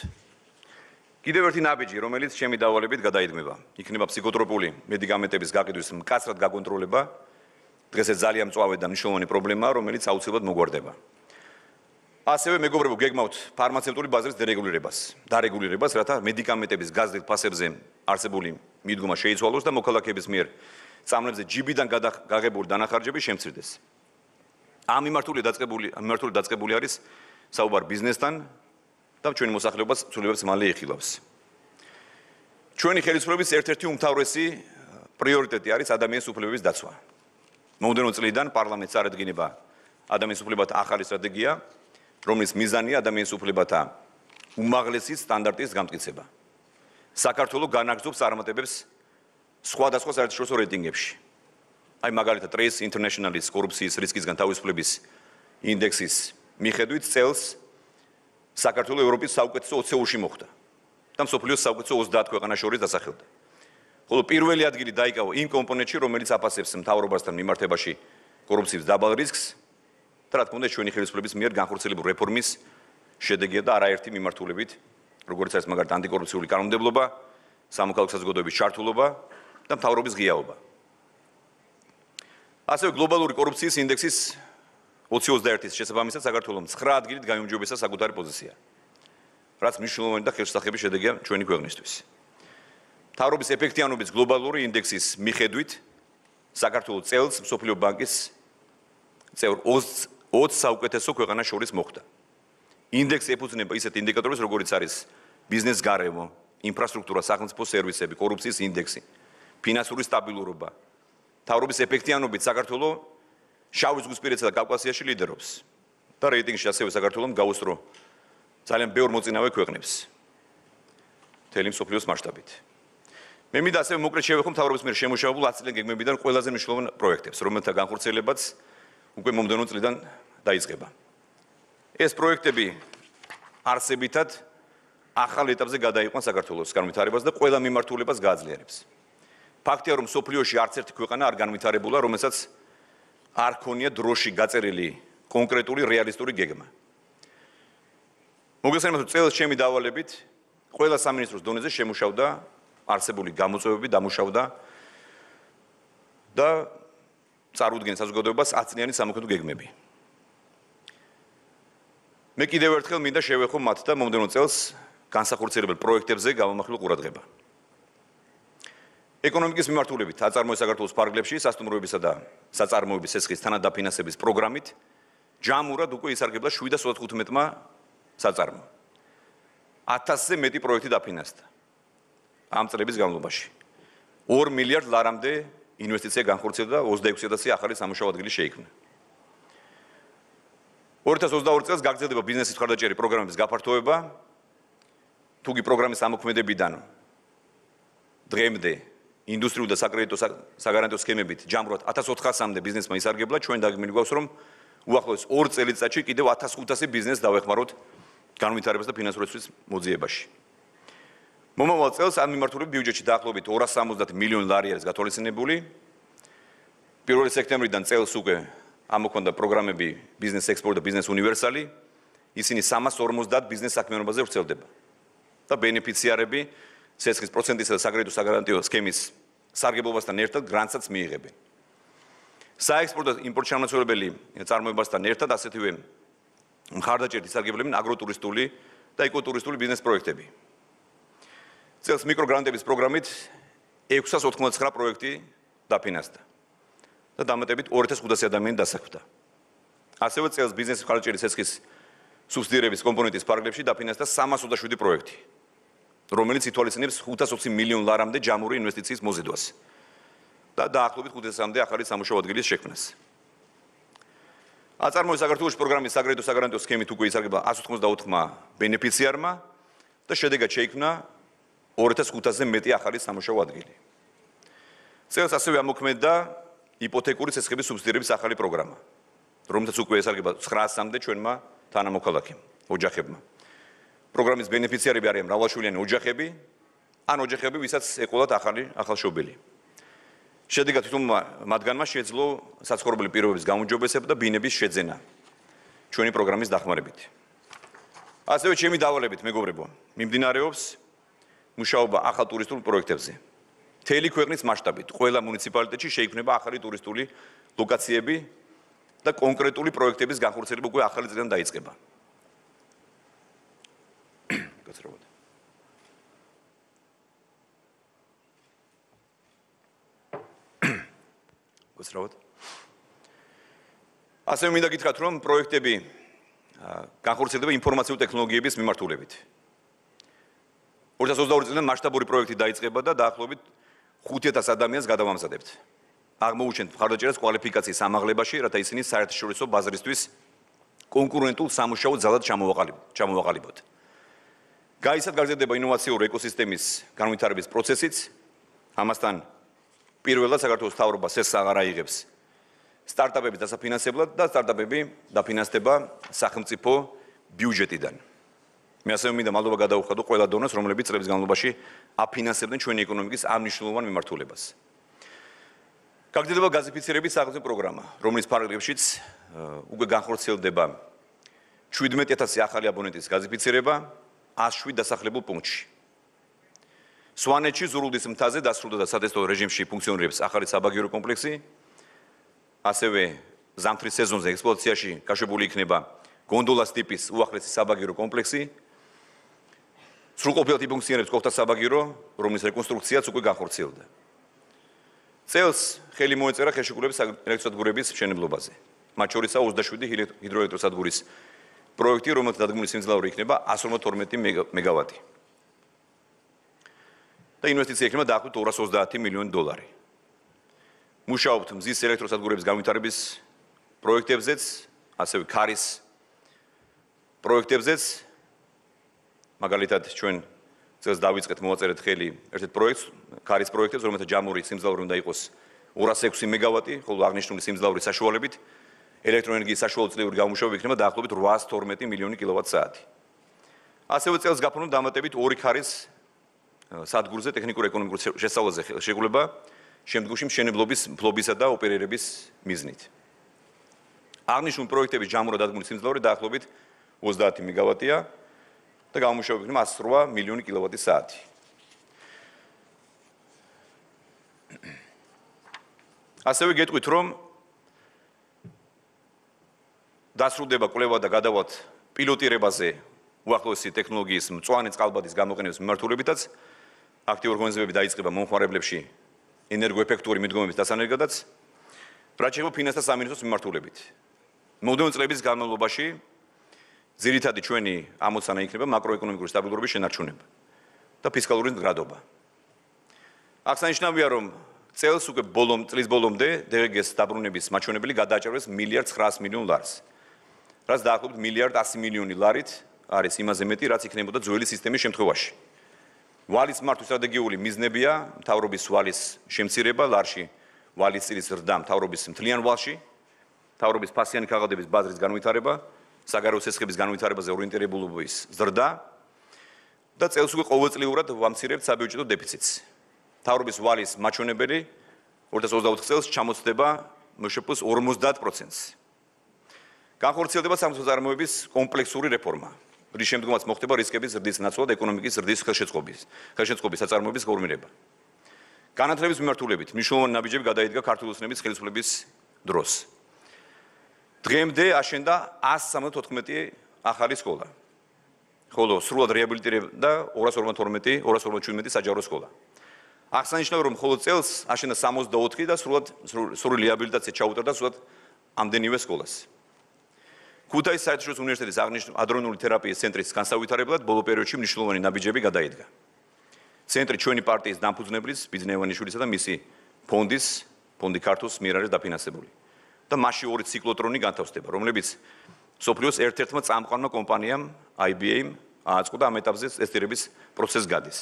კიდევ ერთი ნაბიჯი, რომელიც ჩემი დავალებით გადაიდგმება, იქნება ფსიქოტროპული მედიკამენტების გაყიდვის მკაცრად გაკონტროლება. დღეს ეს ძალიან მწვავე და მნიშვნელოვანი პრობლემაა, რომელიც აუცილებლად მოგვარდება. ასევე მეგობრებო, გეგმავთ ფარმაცევტული ბაზრის დარეგულირებას, რათა მედიკამენტების გაზრდილ ფასებზე არსებული მიდგომა შეიცვალოს და მოქალაქეების მიერ წამლებზე ჯიბიდან გაღებული დანახარჯები შემცირდეს. ამ მიმართული დაწყებული არის საუბარი ბიზნესთან და ჩვენი მოსახლეობას ცვლილებებს მალე იხილავს. ჩვენი ხელისუფლების ერთ-ერთი უმთავრესი პრიორიტეტი არის ადამიანის უფლებების დაცვა. მომდევნო წლიდან პარლამენტს წარადგინება ადამიანის უფლებათა ახალი სტრატეგია, რომლის მიზანია ადამიანის უფლებათა უმაღლესი სტანდარტის გამტკიცება. საქართველოს განაგრძობს წარმატებებს სხვადასხვა საერთაშორისო რეიტინგებში. აი მაგალითად Trace International-ის კორუფციის რისკისგან თავისუფლების ინდექსის მიხედვით წელს საქართველოს ევროპის საუკეთესო 20-ში მოხვდა და მსოფლიოს საუკეთესო 30 ქვეყანას შორის დასახელდა. ხოლო პირველი ადგილი დაიკავა იმ კომპონენტში, რომელიც აფასებს მთავრობასთან მიმართებაში კორუფციის დაბალ რისკს და რა თქმა უნდა ჩვენი ხელისუფლების მიერ განხორციელებული რეფორმის შედეგია და არაერთი მიმართულებით, როგორც არის მაგალითად ანტიკორუფციული კანონმდებლობა, სამოქალაქო საზოგადოების ჩართულობა და მთავრობის ღიაობა. ასევე გლობალური კორუფციის ინდექსის 2021-ის შესაბამისად საქართველოს 9 ადგილით გაიმჯობესა საკუთარი პოზიცია, რაც მნიშვნელოვანი და ხელშესახები შედეგია ჩვენი ქვეყნისთვის. მთავრობის ეფექტიანობის გლობალური ინდექსის მიხედვით საქართველოს წელს მსოფლიო ბანკის წევრ 20 საუკეთესო ქვეყანას შორის მოხვდა. ინდექსი ეფუძნება ისეთ ინდიკატორებს, როგორიც არის ბიზნეს გარემო, ინფრასტრუქტურა, სახელმწიფო სერვისები, კორუფციის ინდექსი, ფინანსური სტაბილურობა. მთავრობის ეფექტიანობით საქართველოს შავი ზღვისპირეთსა და კავკასიაში ლიდერობს და რეიტინგში ასევე საქართველოს გაუსწრო ძალიან ბევრ მოწინავე ქვეყნებს მთელი მსოფლიოს მასშტაბით. მე მინდა ასევე მოკლედ შევეხო მთავრობის მიერ შემუშავებულ 10 წლიან გეგმებიდან ყველაზე მნიშვნელოვან პროექტებს, რომელთა განხორციელებაც უკვე მომდევნო წლიდან დაიწყება. ეს პროექტები არსებითად ახალ ეტაპზე გადაიყვან საქართველოს განვითარებას და ყველა მიმართულებას გააძლიერებს. ფაქტია, რომ სოფლიოში არც ერთი ქვეყანა არ განვითარებულა, რომელსაც არ ქონია დროში გაწერილი კონკრეტული რეალისტური გეგმა. მოგესალმებით, წელს ჩემი დავალებით ყველა სამინისტროს დონეზე შემუშავდა არსებული გამოწვევები, დამუშავდა და წარუდგენს საზოგადოებას 10 წლიანი სამოქმედო გეგმები. მე კიდევ ერთხელ მინდა შევეხო მათ და მომდევნო წელს განსახორციელებელ პროექტებზე გამომახვილ ყურადღება. ეკონომიკის მიმართულებით აწარმოეს საქართველოს ფარგლებში სასტუმროებისა და საწარმოების სესხის თანადაფინანსების პროგრამით ჯამურად უკვე ისარგებლა 715-მა საწარმო. 1000-ზე მეტი პროექტი დაფინანსდა ამ წლების განმავლობაში. 2 მილიარდ ლარამდე ინვესტიცია განხორციელდა და 26,000 ახალი სამუშაო ადგილი შეიქმნა. 2022 წელს გაგრძელდება ბიზნესის მხარდაჭერი პროგრამების გაფართოება. თუგი პროგრამის ამოქმედებიდან დღემდე ინდუსტრიული და საკრედიტო საგარანტიო სქემებით ჯამრად 1400-მდე ბიზნესმა ისარგებლა. ჩვენ დაგმილი გვაქვს, რომ უახლოეს 2 წელიწადში კიდევ 1500 ბიზნესს დავეხმაროთ განვითარებას და ფინანსურების მოძიებაში. მომავალ წელს ამ მიმართულებით ბიუჯეტში დაახლოებით 270 მილიონი ლარი არის გათვალისწინებული. 1 სექტემბრიდან წელს უკვე ამოქონდა პროგრამები ბიზნეს ექსპორტ და ბიზნეს უნივერსალი. ისინი 350 ბიზნეს საქმიანობაზე ვრცელდება. და ბენეფიციარები ცეცხლის პროცენტისა და საკრედიტო საგარანტიო სქემის სარგებლობასთან ერთად გრანტსაც მიიღებენ. საექსპორტო და იმპორტ შემოსავლებელი წარმოებასთან ერთად ასეთივე მხარდაჭერით ისარგებლებენ აგროტურისტული და ეკოტურისტული ბიზნეს პროექტები. წელს მიკროგრანტების პროგრამით 699 პროექტი დაფინანსდა და დამატებით 2500 ადამიანი დასაქმდა. ასევე წელს ბიზნეს მხარდაჭერის ცეცხლის სუბსიდირების კომპონენტის ფარგლებში დაფინანსდა 327 პროექტი, რომელიც ითვალისწინებს 520 მილიონ ლარამდე ჯამური ინვესტიციის მოზიდვას და დაახლოებით 500-მდე ახალი სამუშაო ადგილის შექმნას. აწარმოეს საქართველოს პროგრამის საკრედიტო საგარანტიო სქემით უკვე ისარგებლა 184-მა ბენეფიციარმა და შედეგად შეიქმნა 2500-ზე მეტი ახალი სამუშაო ადგილი. წელს ასევე ამოქმედდა იპოთეკური ცეცხლების სუბსიდირების ახალი პროგრამა, რომელსაც უკვე ესარგებლა 900-მდე ჩვენმა თანამოქალაქემ, ოჯახებმა. პროგრამის ბენეფიციარები არიან მრავალშვილიანი ოჯახები, ან ოჯახები, ვისაც ეყოლათ ახალშობილი. შედეგად თვითონ მათგანმა შეძლო საცხოვრებელი პირობების გაუმჯობესება და ბინების შეძენა ჩვენი პროგრამის დახმარებით. ასევე ჩემი დავალებით, მეგობრებო, მიმდინარეობს მუშაობა ახალ ტურისტულ პროექტებზე. მთელი ქვეყნის მასშტაბით ყველა მუნიციპალიტეტში შეიქმნება ახალი ტურისტული ლოკაციები და კონკრეტული პროექტების განხორციელება უკვე ახალი წლიდან დაიწყება. ასევე მინდა გითხრათ, რომ პროექტები განხორციელდება ინფორმაციულ ტექნოლოგიების მიმართულებით. 2022 წლიდან მასშტაბური პროექტი დაიწყება და დაახლოებით 5000 ადამიანს გადავამზადებთ. აღმოუჩენთ მხარდაჭერას კვალიფიკაციის ამაღლებაში, რათა ისინი საერთაშორისო ბაზრისთვის კონკურენტულ სამუშაო ძალად ჩამოვაყალიბოთ. გაიცად გაზრდება ინოვაციური ეკოსისტემის განვითარების პროცესიც. ამასთან პირველად საქართველოს მთავრობა სესს აღარ აიღებს სტარტაპების დასაფინანსებლად და სტარტაპები დაფინანსდება სახელმწიფო ბიუჯეტიდან. მე ასევე მინდა მადლობა გადაუხადო ყველა დონეს, რომლებიც წლების განმავლობაში აფინანსებდნენ ჩვენი ეკონომიკის ამ მნიშვნელოვან მიმართულებას. გაგრძელდება გაზიფიცირების სახელმწიფო პროგრამა, რომლის ფარგლებშიც უკვე განხორციელდება 17000 ახალი აბონენტის გაზიფიცირება 107 დასახლებულ პუნქტში. სვანეთში ზურულდის მთაზე დასრულდა და სატესტო რეჟიმში ფუნქციონირებს ახალი საბაგირო კომპლექსი. ასევე ზამთრის სეზონზე ექსპლუატაციაში გაშვებული იქნება გონდოლას ტიპის უახლესი საბაგირო კომპლექსი. სრულყოფილად იფუნქციონირებს კოხთა საბაგირო, რომლის რეკონსტრუქციაც უკვე განხორციელდა. წელს ხელი მოეწერა ხელშეკრულების ელექტროსადგურების მშენებლობაზე. მათ შორისაა 27 ჰიდროელექტროსადგურის პროექტი, რომელთა დადგმული სიმძლავრე იქნება 152 მეგავატი. და ინვესტიცია იქნება დაახლოებით 230 მილიონი დოლარი. მუშაობთ მზის ელექტროსადგურების განვითარების პროექტებზეც, ასევე ქარის პროექტებზეც. მაგალითად, ჩვენ წელს დავიწყეთ მოვაწერეთ ხელი ერთ-ერთ პროექტს, ქარის პროექტებს, რომელთა ჯამური სიმძლავრე უნდა იყოს 206 მეგავატი, ხოლო აღნიშნული სიმძლავრის საშუალებით ელექტროენერგიის საშუალო წლიური გამომუშავება იქნება დაახლოებით 812 მილიონი კილოვატ-საათი. ასევე წელს გაფორმდა დამატებით 2 ქარის სადგურზე ტექნიკურ-ეკონომიკურ შესწავლაზე შეგულება შემდგომში მშენებლობის, ფლობისა და ოპერირების მიზნით. აღნიშნული პროექტების ჯამურად დადგმული სიმძლავრე დაახლოებით 30 მეგავატია და გამომუშავება იქნება 108 მილიონი კილოვატი-საათი. ასევე გეტყვით, რომ დასრულდება კვლევა და გადავათ პილოტირებაზე უახლოესი ტექნოლოგიის მწვანე წყალბადის გამოყენების მიმართულებითაც. აქტიური ღონისძიებები დაიწყება მომხმარებლებში ენერგოეფექტური მიდგომების დასანერგადაც, რაც შეეხება ფინანსთა სამინისტროს მიმართულებით. მომდევნო წლების განმავლობაში ძირითადი ჩვენი ამოცანა იქნება მაკროეკონომიკური სტაბილურობის შენარჩუნება და ფისკალური მდგრადობა. აღსანიშნავია, რომ წელს უკვე წლის ბოლომდე DGS-ს დაბრუნების მაჩვენებელი გადააჭარბეს 1.9 მილიარდ ლარს, რაც დაახლოებით 1.1 მილიარდი ლარით არის იმაზე მეტი, რაც იქნებოდა ძველი სისტემის შემთხვევაში. ვალის მართვის სტრატეგიული მიზნებია მთავრობის ვალის შემცირება, ლარში ვალის წილის ზრდა მთავრობის მთლიან ვალში მთავრობის ფასიანი ქაღალდების ბაზრის განვითარება, საგარეო სესხების განვითარებაზე ორიენტირებულობის ზრდა და წელს უკვე ყოველწლიურად ვამცირებთ საბიუჯეტო დეფიციტს. მთავრობის ვალის მაჩვენებელი 2024 წელს ჩამოწდება მშპ-ს 50%-ს. განხორციელდება სამართლის წარმოების კომპლექსური რეფორმა, რის შემდგომაც მოხდება რისკების ზრდის ნაცვლად ეკონომიკის ზრდის ხელშეწყობის საწარმოების გორმირება. განათლების მიმართულებით მნიშვნელოვანი ნაბიჯები გადაიდგა ქართული ოცნების ხელისუფლების დროს. დღემდე აშენდა 174 ახალი სკოლა, ხოლო სრულად რეაბილიტირდა 252 საჯარო სკოლა. აღსანიშნავია, რომ მხოლოდ წელს აშენდა 64 და სრული რეაბილიტაცია ჩაუტარდა სრულად ამდენივე სკოლას. ქუთაისის საერთაშორისო უნივერსიტეტის აღნიშნული ადრონული თერაპიის ცენტრის განსავითარებლად ბოლო პერიოდში მნიშვნელოვანი ნაბიჯები გადაიდგა. ცენტრი ჩვენი პარტიის დამფუძნებლის ბიძნევანიშვილისა და მისი ფონდი ქართულს მიერ არის დაფინანსებული და მასში 2 ციკლოტრონი განთავსდება, რომლებიც სოფლიოს ერთ-ერთმა წამყვანმა კომპანიამ IBM აწყო და ამ ეტაპზე ტესტირების პროცესს გადის.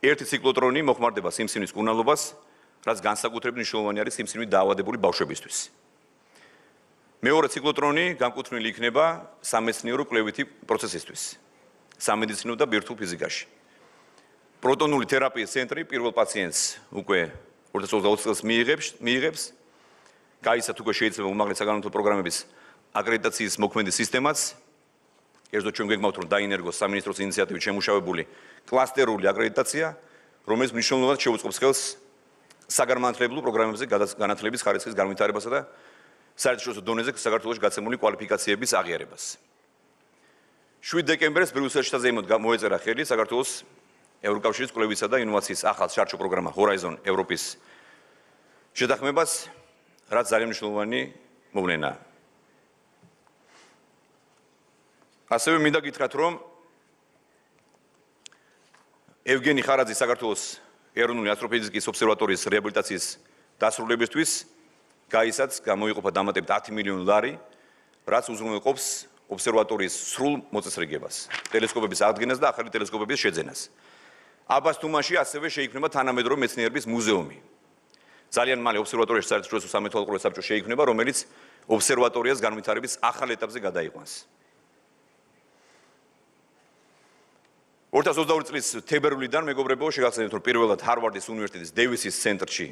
ერთი ციკლოტრონი მოხმარდება სიმსივნის კურნალობას, რაც განსაკუთრებით მნიშვნელოვანი არის სიმსივნით დაავადებული ბავშვებისთვის. მეორე ციკლოტრონი განკუთვნილი იქნება სამეცნიერო კვლევითი პროცესისთვის, სამედიცინო და ბირთვულ ფიზიკაში. პროტონული თერაპიის ცენტრი პირველ პაციენტს უკვე 2020 წელს მიიღებს. გაიცათ უკვე შეიძლება უმაღლესი საგანმანათლებლო პროგრამების აკრედიტაციის მოქმედი სისტემაც. ერთდროულად ჩვენ გეგმავთ, რომ დაინერგოს სამინისტროს ინიციატივით შემუშავებული კლასტერული აკრედიტაცია, რომელიც მნიშვნელოვნად შეუწყობს ხელს საგანმანათლებლო პროგრამებზე განათლების ხარისხის განვითარებასა და საერთაშორისო დონეზე საქართველოში გაცემული კვალიფიკაციების აღიარებას. 7 დეკემბერს ბრიუსელში საზეიმოდ მოეწერა ხელი საქართველოს ევროკავშირის კვლევისა და ინოვაციის ახალ შარჩო პროგრამა Horizon Europe-ის შეთანხმებას, რაც ძალიან მნიშვნელოვანი მოვლენაა. ასევე მინდა გითხრათ, რომ ევგენი ხარაძის საქართველოს ეროვნული ასტროფიზიკის ობსერვატორიის რეაბილიტაციის დასრულებისთვის გაისაც გამოიყოფა დამატებით 10 მილიონი ლარი, რაც უზრუნველყოფს ობსერვატორიის სრულ მოწესრიგებას, ტელესკოპების აღდგენას და ახალი ტელესკოპების შეძენას. აბას თუმანში ასევე შეიქმნება თანამედროვე მეცნიერების მუზეუმი. ძალიან მალე ობსერვატორიაში საერთაშორისო სამეთვალყურე საბჭო შეიქმნება, რომელიც ობსერვატორიას განვითარების ახალ ეტაპზე გადაიყვანს. 2022 წლის თებერვლიდან მეგობრებო, შეგახსენებთ, რომ პირველად ჰარვარდის უნივერსიტეტის დევისის ცენტრში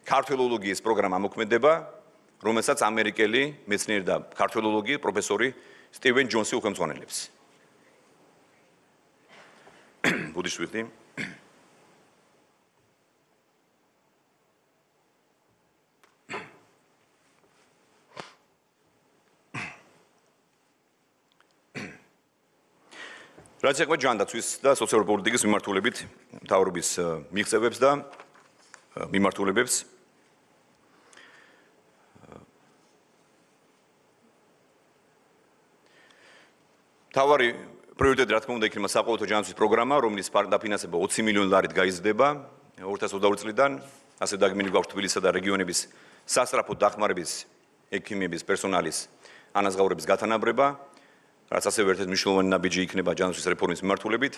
ქართველოლოგიის პროგრამა მოქმედება, რომელსაც ამერიკელი მეცნიერი და ქართველოლოგი პროფესორი სტივენ ჯონსი უხელმძღვანელებს. ბუდიშვილი. რაც ეხება ჯანდაცვის და სოციალური პოლიტიკის მიმართულებით მთავრობის მიღწევებს და მიმართულებებს. მთავარი პრიორიტეტი, რა თქმა უნდა, იქნება საყოველთაო ჯანდაცვის პროგრამა, რომლის დაფინანსება 20 მილიონი ლარით გაიზრდება 2022 წლიდან, ასე დაგმინი გვაქვს თბილისსა და რეგიონების სასწრაფო დახმარების ექიმების პერსონალის ანაზღაურების გათანაბრება, რაც ასევე ერთ-ერთი მნიშვნელოვანი ნაბიჯი იქნება ჯანდაცვის რეფორმის მიმართულებით.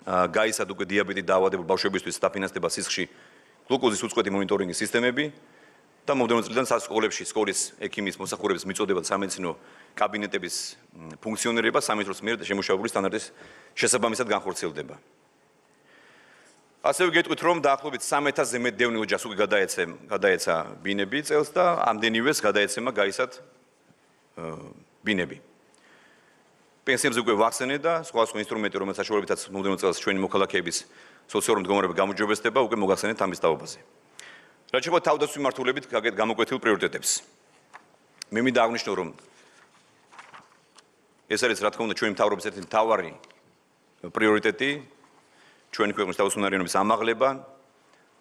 გაიცათ უკვე დიაბეტით დაავადებული ბავშვებისთვის დაფინანსდება სისხლში გლუკოზის უწყვეტი მონიტორინგის სისტემები და მომდევნო წლიდან სასკოლებში სკოლის ექიმის მოსახურების მიწოდება და სამედიცინო კაბინეტების ფუნქციონირება სამინისტროს მიერ შემუშავებული სტანდარტის შესაბამისად განხორციელდება. ასევე გეტყვით, რომ დაახლოებით 30000-ზე მეტ დევნილ ოჯახს უკვე გადაეცა ბინები წელს და ამდენივეს გადაეცემა გაიცათ ბინები. პენსიებზე უკვე ვახსენე და სხვა ინსტრუმენტი, რომელიც საშუალებითაც მომდევნო წელს ჩვენი მოქალაქეების სოციალური მდგომარეობა გამოჯობესდება, უკვე მოგახსენეთ ამის თაობაზე. რაც შეეხება თავდაცვის მიმართულებით გამოკვეთილ პრიორიტეტებს. მე მინდა აღნიშნო, რომ ეს არის, რა თქმა უნდა, ჩვენი მთავრობის ერთ-ერთი მთავარი პრიორიტეტი, ჩვენი ქვეყნის თავისუფლებიანობის ამაღლება,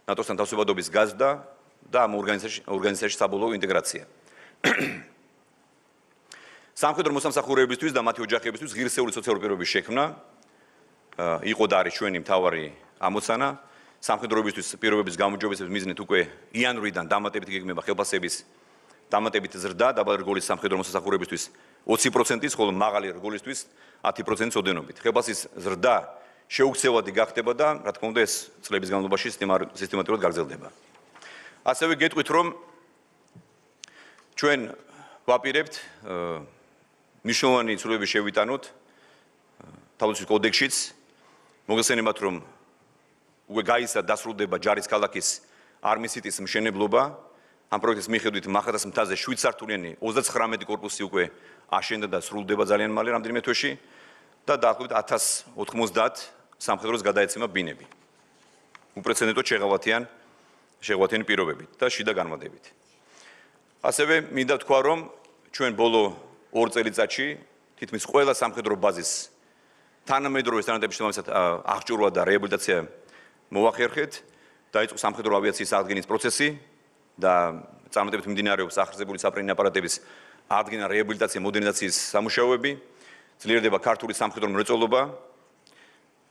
ნატოსთან თავსებადობის გაზრდა და ამ ორგანიზაციაში საბოლოო ინტეგრაცია. სამხედრო მოსამსახურეებისთვის და მათი ოჯახებისთვის ღირსეული სოციალური პირობების შექმნა იყო და არის ჩვენი მთავარი ამოცანა. სამხედროებისთვის პირობების გამოჯობესების მიზნით უკვე იანვრიდან დამატებით გეგმება ხელფასების დამატებით ზრდა დაბალი რგოლის სამხედრო მოსამსახურეებისთვის 20%-ის, ხოლო მაღალი რგოლისთვის 10%-ის ოდენობით. ხელფასის ზრდა შეუქცევადი გახდება და, რა თქმა უნდა, ეს წლების განმავლობაში სისტემატურად გაგრძელდება. ასევე გეტყვით, რომ ჩვენ ვაპირებთ მნიშვნელოვანი ცვლილებები შევიტანოთ თავდაცვის კოდექსშიც, მოგესალმებათ, რომ უკვე გაიზარდა დასრულდება ჯარის ქალაქის არმისიტის მშენებლობა. ამ პროექტის მიხედვით მახათას მთაზე 7 სართულიანი 39 კორპუსი უკვე აშენდა და სრულდება ძალიან მალე რამდენიმე თვეში და დაახლოებით 1090 სამხედროს გადაეცემა ბინები. უპრეცედენტოდ შეღავათიანი პირობებით და შიდა განმადებით. ასევე მინდა ვთქვა, რომ ჩვენ ბოლო 2 წელიწადში თითქმის ყველა სამხედრო ბაზის თანამედროვე სტანდარტების შესაბამისად აღჭურვა და რეაბილიტაცია მოახერხეთ. დაიწყო სამხედრო ავიაციის აღდგენის პროცესი და წარმატებით მიმდინარეობს ახერხებული საფრენი აპარატების აღდგენა, რეაბილიტაცია, მოდერნიზაციის სამუშაოები. ძლიერდება ქართული სამხედრო მრეწველობა.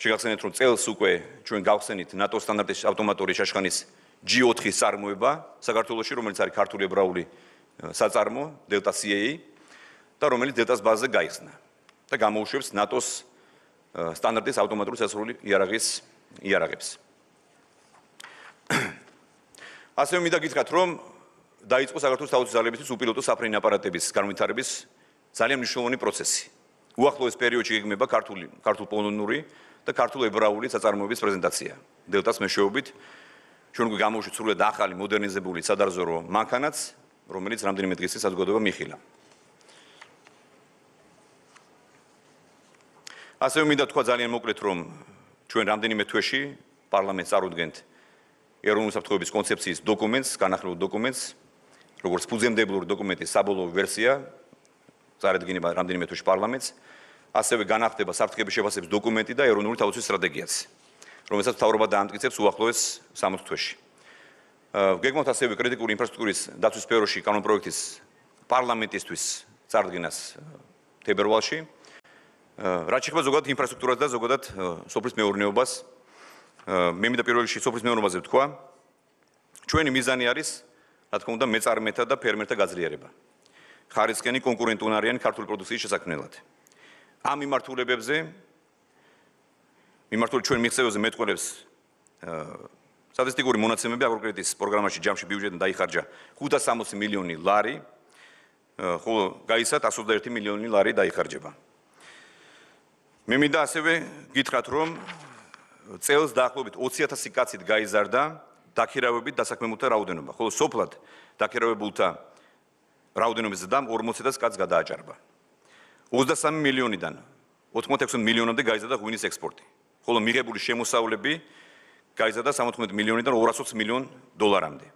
შეგახსენებთ, რომ წელს უკვე ჩვენ გავხსენით ნატო სტანდარტის ავტომატური შაშხანის G4-ის წარმოება საქართველოში, რომელიც არის ქართული ებრაული საწარმო Delta CA და რომელიც Delta-ს ბაზაზე გაიხსნა და გამოუშვებს ნატოს სტანდარტის ავტომატური სასრული იარაღებს. ასევე მინდა გითხრათ, რომ დაიწყო საქართველოს თავდაცვის ძალებისთვის უპილოტო საფრენი აპარატების განვითარების ძალიან მნიშვნელოვანი პროცესი. უახლოეს პერიოდში გეგმება ქართულ-პოლონური და ქართულ-ებრაული საწარმოების პრეზენტაცია. Delta-ს მეშვეობით ჩვენ უკვე გამოუშვით სრულად ახალი მოდერნიზებული სადარზორო მანქანაც, რომელიც რამდენიმე დღის წინ საზოგადოება მიიხილა. ასევე მინდა თქვა ძალიან მოკლედ, რომ ჩვენ რამდენიმე თვეში პარლამენტს წარუდგენთ ეროვნული უსაფრთხოების კონცეფციის დოკუმენტს, განახლებულ დოკუმენტს, როგორც ფუძემდებლური დოკუმენტის საბოლოო ვერსია, წარადგინება რამდენიმე თვეში პარლამენტს, ასევე განახდება საფრთხეების შეფასების დოკუმენტი და ეროვნული თავდაცვის სტრატეგიაც, რომელსაც მთავრობა დაამტკიცებს უახლოეს 60 თვეში. გეგმავთ ასევე კრიტიკული ინფრასტრუქტურის დაცვის სფეროში კანონპროექტის პარლამენტისთვის წარდგენას თებერვალში. რაც შეეხება ზოგადად ინფრასტრუქტურას და ზოგადად სოფლის მეურნეობას, მე მინდა პირველ რიგში სოფლის მეურნეობაზე ვთქვა, ჩვენი მიზანი არის, რა თქმა უნდა, მეწარმეთა და ფერმერთა გაძლიერება. ხარისხიანი კონკურენტუნარიანი ქართული პროდუქციის შესაქმნელად. ამ მიმართულებებზე ჩვენ მიღწევებზე მეტყველებს სტატისტიკური მონაცემები აგროკრედიტის პროგრამაში ჯამში ბიუჯეტიდან დაიხარჯა 560 მილიონი ლარი, ხოლო გაიცათ 121 მილიონი ლარი დაიხარჯება. მე მინდა ასევე გითხრათ, რომ წელს დაახლოებით 20,000 კაცით გაიზარდა დაქირავებით დასაქმებულთა რაოდენობა, ხოლო სოფლად დაქირავებულთა რაოდენობის ზრდამ 40,000 კაცს გადააჭარბა. 23 მილიონიდან 86 მილიონამდე გაიზარდა ღვინის ექსპორტი, ხოლო მიღებული შემოსავლები გაიზარდა 75 მილიონიდან 220 მილიონ დოლარამდე.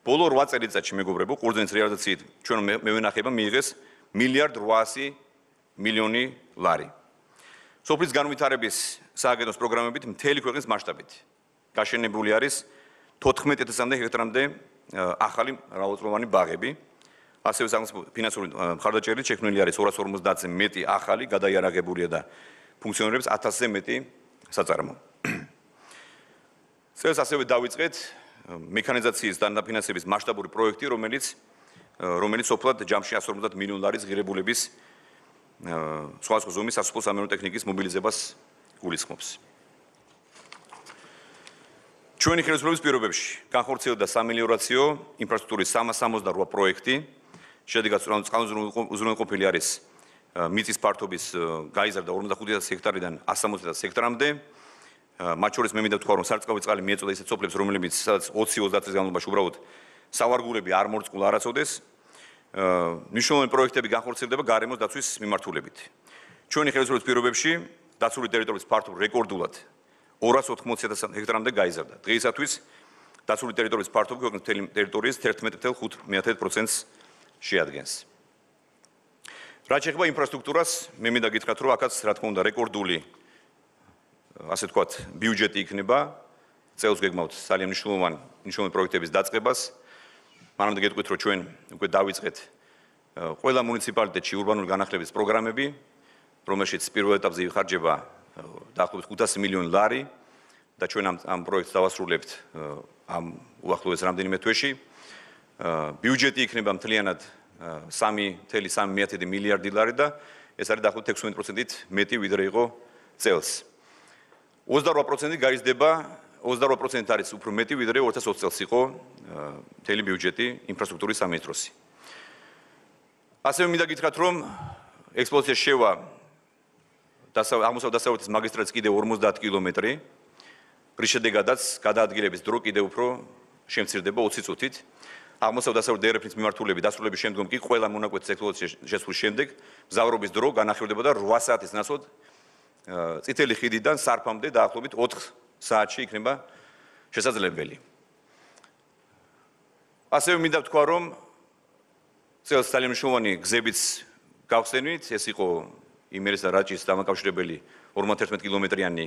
ბოლო 8 წელიწადში მეგობრებო, ყურძნის რეალიზაციით ჩვენ მევენახება მიიღეს 1,8 მილიონი ლარი. სოფლის განვითარების სააგენტოს პროგრამებით მთელი ქვეყნის მასშტაბით გაშენებული არის 14,000-მდე ჰექტარამდე ახალი მრავალწლოვანი ბაღები. ასევე სახელმწიფო ფინანსური მხარდაჭერით შექმნილი არის 250-ზე მეტი ახალი გადაიარაღებულია და ფუნქციონირებს 1000-ზე მეტი საწარმო. წელს ასევე დავიწყეთ მექანიზაციის და დაფინანსების მასშტაბური პროექტი, რომელიც სოფლად ჯამში 150 მილიონ ლარის ღირებულების სხვადასხვა ზომის სასოფლო სამეურნეო ტექნიკის მობილიზებას გულისხმობს. ჩვენი ხელისუფლების პირობებში განხორციელდა სამელიორაციო ინფრასტრუქტურის 368 პროექტი, შედეგად უზრუნველყოფილი არის მიწის ფართობის გაიზარდა 45,000 ჰექტარიდან 160,000 ჰექტარამდე. მათ შორის მე მინდა ვთქვა, რომ სარწყავი წყალი მიეწოდა ისეთ სოფლებს, რომლებიც სადაც 20-30 წლის განმავლობაში უბრალოდ სავარგულები არ მორწყულა არასოდეს. მნიშვნელოვანი პროექტები განხორციელდება გარემოს დაცვის მიმართულებით. ჩვენი ხელისუფლების პირობებში დაცული ტერიტორიის ფართობი რეკორდულად 280,000 ჰექტარამდე გაიზარდა. დღეისათვის დაცული ტერიტორიის ფართობი ქვეყნის მთელი ტერიტორიის 11,5%-ს შეადგენს. რაც შეეხება ინფრასტრუქტურას, მე მინდა გითხრათ, რომ აქაც რა თქმა უნდა რეკორდული ასე ვთქვათ, ბიუჯეტი იქნება. წელს გეგმავთ ძალიან მნიშვნელოვანი პროექტების დაწყებას. მანამდე გეტყვით, რომ ჩვენ უკვე დავიწყეთ ყველა მუნიციპალიტეტში ურბანული განახლების პროგრამები, რომელშიც პირველ ეტაპზე იხარჯება დაახლოებით 500 მილიონი ლარი და ჩვენ ამ პროექტს დავასრულებთ ამ უახლოეს რამდენიმე თვეში. ბიუჯეტი იქნება მთლიანად 3,3 მილიარდი ლარი და ეს არის დაახლოებით 16%-ით მეტი ვიდრე იყო წელს. 28% გაიზრდება, 28% არის უფრო მეტი ვიდრე 2020 წელს იყო მთელი ბიუჯეტი ინფრასტრუქტურის სამინისტროსი. ასევე მინდა გითხრათ, რომ ექსპლუატაციაში შევა აღმოსავლეთ-დასავლეთის მაგისტრალის კიდევ 50 კილომეტრი, რის შედეგადაც გადაადგილების დრო კიდევ უფრო შემცირდება 20 წუთით. აღმოსავლეთ-დასავლეთ დერეფნის მიმართულებით დასრულების შემდგომ კი ყველა მონაკვეთის ექსპლუატაციაში შესვლის შემდეგ მგზავრობის დრო განახილვდება და 8 საათის ნაცვლად წითელი ხიდიდან სარფამდე დაახლოებით 4 საათში იქნება შესაძლებელი. ასევე მინდა ვთქვა, რომ წელს ძალიან მნიშვნელოვანი გზებიც გავხსენით, ეს იყო იმერეს და რაჭის დამაკავშირებელი 51 კილომეტრიანი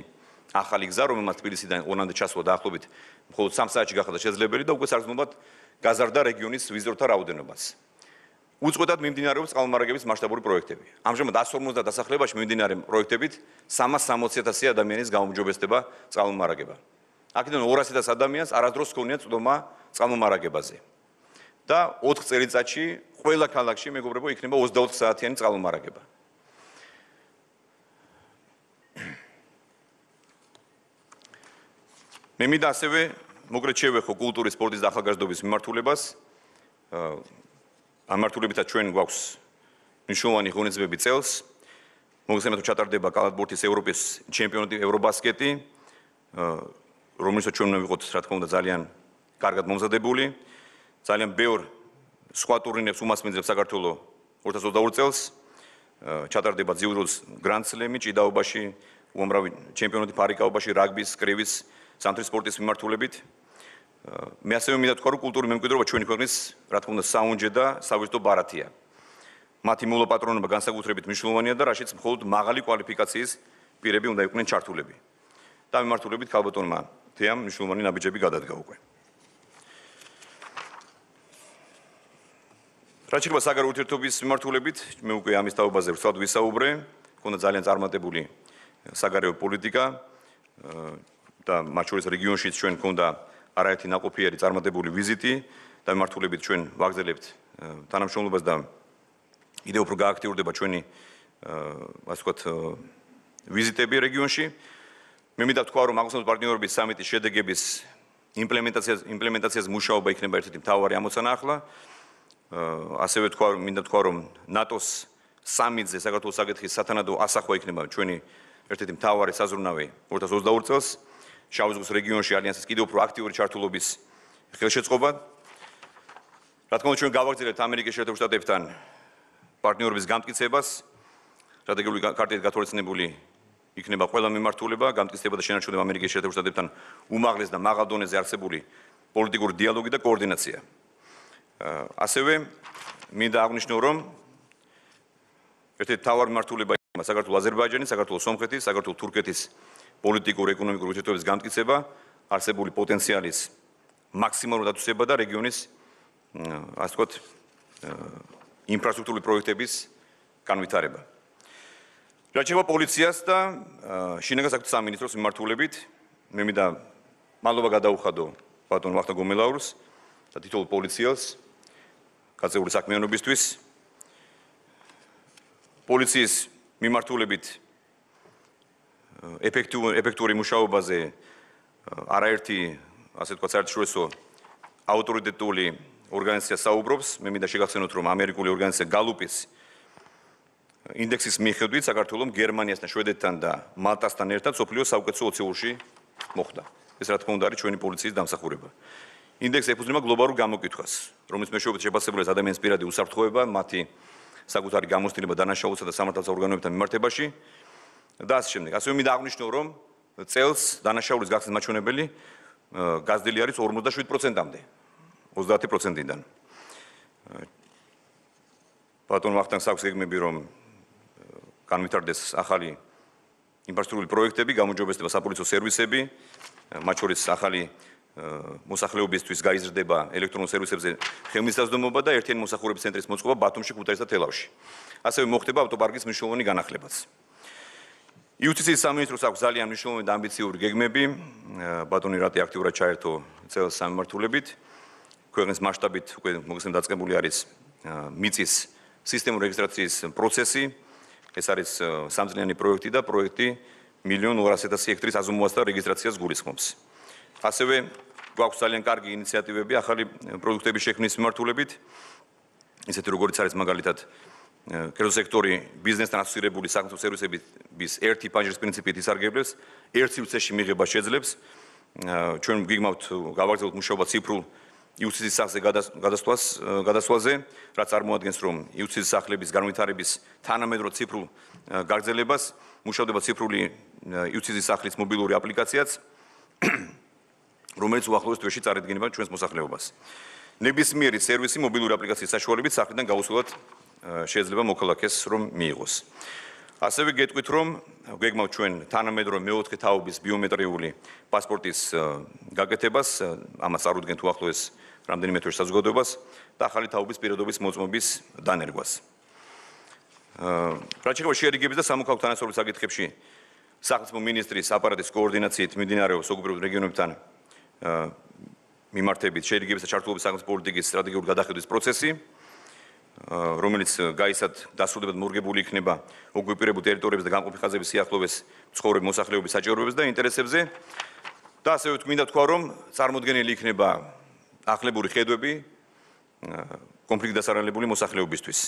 ახალი გზა, რომელმაც თბილისიდან ორლანდო ჩასვლა დაახლოებით მხოლოდ 3 საათში გახდა შესაძლებელი და უკვე საგრძნობლად გაზარდა რეგიონის ვიზიტორთა რაოდენობას. უწყვეტად მიმდინარეობს წყალმომარაგების მასშტაბური პროექტები. ამჟამად 150 დასახლებაში მიმდინარე პროექტებით 360,000 ადამიანის გაუმჯობესდება წყალმომარაგება. აქედან 200 ადამიანს არასდროს ჰქონია წვდომა წყალმომარაგებაზე. და 4 წელიწადში ყველა ქალაქში მეგობრებო იქნება 24 საათიანი წყალმომარაგება. მე მინდა ასევე მოკრეთ შევეხო კულტურის, სპორტის და ახალგაზრდობის მიმართულებას. ამ მიმართულებითაც ჩვენ გვაქვს მნიშვნელოვანი ღონისძიებები წელს. მოგესალმებით, ჩატარდება კალათბურთის ევროპის ჩემპიონატი, ევრობასკეტი, რომელსაც ჩვენ უნდა ვიყოთ, რა თქმა უნდა, ძალიან კარგად მომზადებული. ძალიან ბევრ სხვა ტურნირებს უმასპინძლებს საქართველოს 2022 წელს. ჩატარდება ძიუდოს გრანდსლემი ჭიდაობაში, უამრავი ჩემპიონატი ფარიკაობაში, რაგბის, კრივის, სამთრის სპორტის მიმართულებით. მე ასევე მინდა ვთქვა, რომ კულტურის მემკვიდრეობა ჩვენი ქვეყნის, რა თქმა უნდა, საუნჯე და სავიზიტო ბარათია. მათი მოლაპატრონობა განსაკუთრებით მნიშვნელოვანია და რაშიც მხოლოდ მაღალი კვალიფიკაციის პირები უნდა იყვნენ ჩართულები. და მიმართულებით ქალბატონმა თეამ მნიშვნელოვანი ნაბიჯები გადადგა უკვე. რაც შეეხება საგარეო ურთიერთობის მიმართულებით, მე უკვე ამის თაობაზე ვცვლად ვისაუბრე, მქონდა ძალიან წარმატებული საგარეო პოლიტიკა და მათ შორის რეგიონშიც ჩვენ მქონდა არაერთი ნაყოფიერი წარმატებული ვიზიტი და მიმართულებით ჩვენ ვაგრძელებთ თანამშრომლობას და კიდევ უფრო გააქტიურდება ჩვენი ასე ვთქვათ ვიზიტები რეგიონში. მე მინდა ვთქვა, რომ აღმოსავლეთ პარტნიორობის სამიტის შედეგების იმპლემენტაციას მუშაობა იქნება ერთ-ერთი მთავარი ამოცანა ახლა. ასევე მინდა ვთქვა, რომ ნატოს სამიტზე საქართველოს საკითხის სათანადო ასახვა იქნება ჩვენი ერთ-ერთი მთავარი საზრუნავი 2022 წელს. შავი ზღვის რეგიონში ალიანსის კიდევ უფრო აქტიური ჩართულობის ხელშეწყობა. რა თქმა უნდა, ჩვენ გავაგრძელებთ ამერიკის შეერთებულ შტატებთან პარტნიორობის გამტკიცებას. სტრატეგიული კარტით გათვალისწინებული იქნება ყველა მიმართულება, გამტკიცება და შენარჩუნება ამერიკის შეერთებულ შტატებთან უმაღლეს და მაღალ დონეზე არსებული პოლიტიკური დიალოგი და კოორდინაცია. ასევე მინდა აღვნიშნო, რომ ერთ-ერთი მთავარი მიმართულება იქნება საქართველოს აზერბაიჯანის, საქართველოს სომხეთის, საქართველოს თურქეთის პოლიტიკური ეკონომიკური ურთიერთობების გამტკიცება, არსებული პოტენციალის მაქსიმალური დათვისება და რეგიონის ასე ვთქვათ ინფრასტრუქტურული პროექტების განვითარება. რაც შეეხება პოლიციას და შინაგან საქმეთა სამინისტროს მიმართულებით, მე მინდა მადლობა გადაუხადო ბატონ ვახტანგ გომელაურს და თითოეულ პოლიციელს გაწეული საქმიანობისთვის. პოლიციის მიმართულებით ეფექტური მუშაობაზე არაერთი ასე ვთქვათ საერთაშორისო ავტორიტეტული ორგანიზაცია საუბრობს. მე მინდა შეგახსენოთ, რომ ამერიკული ორგანიზაცია გალუპის ინდექსის მიხედვით საქართველოს გერმანიასთან, შვედეთთან და მალტასთან ერთად სოფლიოს საუკეთესო 20-ში მოხვდა. ეს რა თქმა უნდა არის ჩვენი პოლიციის დამსახურება. ინდექსი ეფუძნება გლობალურ გამოკითხვას, რომლის მეშვეობით შეფასებულია ადამიანის პირადი უსაფრთხოება, მათი საკუთარი გამოცდილება დანაშაულსა და სამართალს ორგანოებთან მიმართებაში და ასე შემდეგ. ასევე მინდა აღვნიშნო, რომ წელს დანაშაულის გახსნის მაჩვენებელი გაზრდილი არის 47%-მდე, 30%-დან. ბატონ ვახტანგს აქვს გეგმები, რომ განვითარდეს ახალი ინფრასტრუქტურული პროექტები, გამოჯობესდება საპოლიციო სერვისები, მათ შორის ახალი მოსახლეობისთვის გაიზრდება ელექტრონულ სერვისებზე ხელმისაწვდომობა და ერთიანი მოსახურების ცენტრის მოწყობა ბათუმში, ქუთაისსა და თელავში. ასევე მოხდება ავტოპარკის მნიშვნელოვანი განახლებაც. იუსტიციის სამინისტროს აქვს ძალიან მნიშვნელოვანი და ამბიციური გეგმები. ბატონი რატი აქტიურად ჩაერთო წელს სამმართველობით. ქვეყნის მასშტაბით უკვე მოგესალმებით დაწყებული არის მიწის სისტემური რეგისტრაციის პროცესი. ეს არის სამწლიანი პროექტი და პროექტი 1,200,000 ჰექტრის აზომვასთან რეგისტრაციას გულისხმობს. ასევე გვაქვს ძალიან კარგი ინიციატივები ახალი პროდუქტების შექმნის მიმართულებით. ისეთი როგორც არის მაგალითად კერძო სექტორი ბიზნესთან ასოცირებული სახელმწიფო სერვისების ერთი პანჯრის პრინციპით ისარგებლებს, ერთ სივრცეში მიღება შეძლებს. ჩვენ გიგმავთ გავაგრძელოთ მუშაობა ციფრულ იუცის სახლზე გადასვლაზე, რაც წარმოადგენს, რომ იუცის სახლების განვითარების თანამედროვე ციფრულ გაგრძელებას, მუშავდება ციფრული იუცის სახლის მობილური აპლიკაციაც, რომელიც უახლოეს თვეში წარადგინება ჩვენს მოსახლეობას. ნებისმიერი სერვისი მობილური აპლიკაციის საშუალებით სახლიდან გაუსვლელად შეიძლება მოქალაქეს რომ მიიღოს. ასევე გეტყვით, რომ გვეგმავთ ჩვენ თანამედროვე მეოთხე თაობის ბიომეტრიული პასპორტის გაკეთებას, ამას წარუდგენთ უახლოეს რამდენიმე თვეში საზოგადოებას და ახალი თაობის პირადობის მოწმობის დანერგვას. რაც შეეხება შეერიგების და სამოქალაქო თანასწორობის საკითხებში, სახელმწიფო მინისტრის აპარატის კოორდინაციით მიმდინარეობს საგუბერნატორო რეგიონებთან მიმართებით შეერიგების და ჩართულობის სახელმწიფო პოლიტიკის სტრატეგიული გადახედვის პროცესი, რომელიც გაისად დასრულებად მორგებული იქნება ოკუპირებულ ტერიტორიებზე და გამყოფი ხაზების სიახლოვეს მცხოვრები მოსახლეობის საჭიროებებზე და ინტერესებზე და ასევე მინდა თქვა, რომ წარმოდგენილი იქნება ახლებური ხედვები კონფლიქტ დასარალებული მოსახლეობისთვის.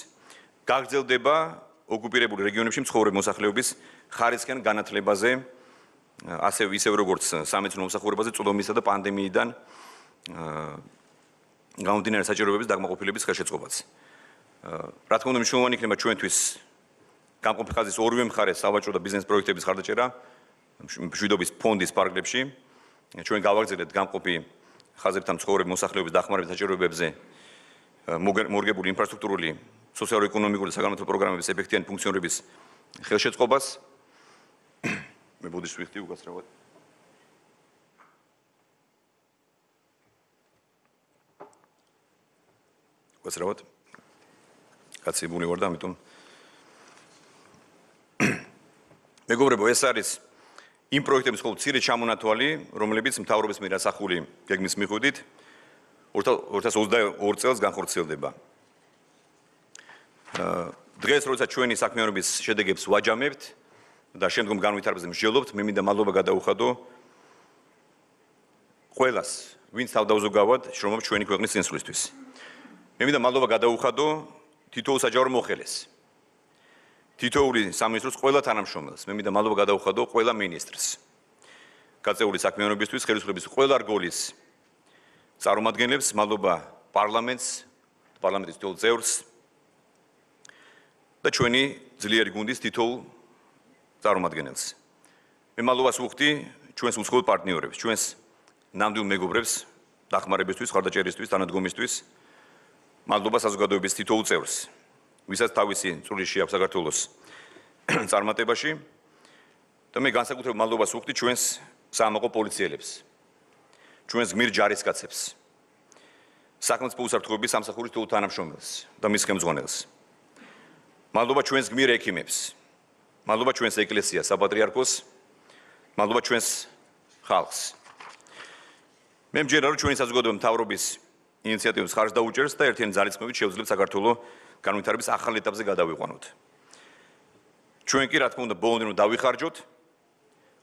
გაგრძელდება ოკუპირებულ რეგიონებში მცხოვრები მოსახლეობის ხარისხიან განათლებაზე, ასევე ისევ როგორც სამეცნიერო მომსახურებაზე წვდომისა და პანდემიიდან გამომდინარე საჭიროებების დაკმაყოფილების ხელშეწყობაც. რა თქმა უნდა, მნიშვნელოვანი იქნება ჩვენთვის გამყოფი ხაზის ორივე მხარეს სავაჭრო და ბიზნეს პროექტების ხარდაჭერა მშვიდობის ფონდის პარკლებში. ჩვენ გავაგრძელებთ გამყოფი ხაზებთან მცხოვრები მოსახლეობის დახმარების საჭიროებებზე მორგებული ინფრასტრუქტურული სოციალურ-ეკონომიკური და საგანმანათლებლო პროგრამების ეფექტიანი ფუნქციონირების ხელშეწყობას. მე ბოდიშს ვიხდი უკაცრავად. უკაცრავად. კაცებული ვარ და ამიტომ მეგობრებო, ეს არის იმ პროექტების მხოლოდ მცირე ჩამონათვალი, რომლებიც მთავრობის მიერ ასახული გეგმის მიხედვით 2022 წელს განხორციელდება. დღეს, როდესაც ჩვენი საქმიანობის შედეგებს ვაჯამებთ და შემდგომ განვითარებაზე მსჯელობთ, მე მინდა მადლობა გადაუხადო ყველას, ვინც თავდაუზოგავად შრომობს ჩვენი ქვეყნის წინსვლისთვის. მე მინდა მადლობა გადაუხადო თითოეულ საჯარო მოხელეს. თითოეული სამინისტროს ყველა თანამშრომელს, მე მინდა მადლობა გადაუხადო ყველა მინისტრს. გაწეული საქმიანობისთვის, ხელისუფლების ყველა რგოლის წარმომადგენლებს, მადლობა პარლამენტს, პარლამენტის თითოეულ წევრს და ჩვენი ძლიერი გუნდის თითოეულ წარმომადგენელს. მე მადლობას ვუხდი ჩვენს უცხოელ პარტნიორებს, ჩვენს ნამდვილ მეგობრებს დახმარებისთვის, ხარდაჭერისთვის, თანადგომისთვის. მადლობა საზოგადოების თითოეულ წევრს, ვისაც თავისი წვლილი აქვს საქართველოს წარმატებაში და მე განსაკუთრებულ მადლობას ვუხდი ჩვენს საამაყო პოლიციელებს, ჩვენს გმირ ჯარისკაცებს, სახელმწიფო უსაფრთხოების სამსახურის თითოეულ თანამშრომელს და მის ხელმძღვანელს. მადლობა ჩვენს გმირ ექიმებს, მადლობა ჩვენს ეკლესიას, საპატრიარქოს, მადლობა ჩვენს ხალხს. მე მჯერა, რომ ჩვენი საზოგადოება მთავრობის ინიციატივებს ხარჯს დაუჭერს და ერთიანი ძალისხმევით შეუძლებს საქართველოს განვითარების ახალ ეტაპზე გადავიყვანოთ. ჩვენ კი, რა თქმა უნდა, ბოლომდე რომ დავიხარჯოთ,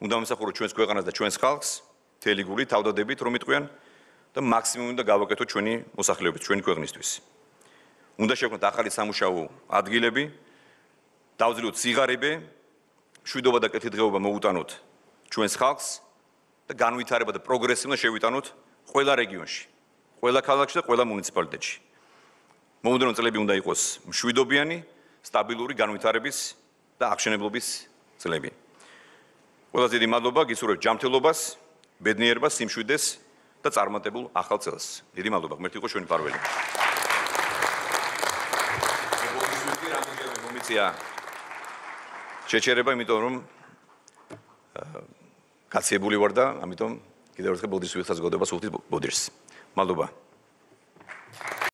უნდა ვიმსახუროთ ჩვენს ქვეყანას და ჩვენს ხალხს, მთელი გულით, თავდადებით, რომ იტყვიან და მაქსიმუმი უნდა გავაკეთოთ ჩვენი მოსახლეობის, ჩვენი ქვეყნისთვის. უნდა შევქმნათ ახალი სამუშაო ადგილები, დავძლიოთ სიღარიბე, მშვიდობა და კეთილდღეობა მოუტანოთ ჩვენს ხალხს და განვითარება და პროგრესი უნდა შევიტანოთ ყველა რეგიონში, ყველა ქალაქში და ყველა მუნიციპალიტეტში. მომდევნო წლები უნდა იყოს მშვიდობიანი, სტაბილური განვითარების და აღშენებლობის წლები. ყველაზე დიდი მადლობა გისურვებთ ჯანმრთელობას, ბედნიერებას, სიმშვიდეს და წარმატებულ ახალ წელს. დიდი მადლობა, ღმერთი იყო ჩვენი პარველი. შეჩერება, იმიტომ რომ გაცილებული ვარ და ამიტომ კიდევ ერთხელ ბოდიშს ვიხსნა საზოგადოებას უხდით ბოდიშს. მადლობა.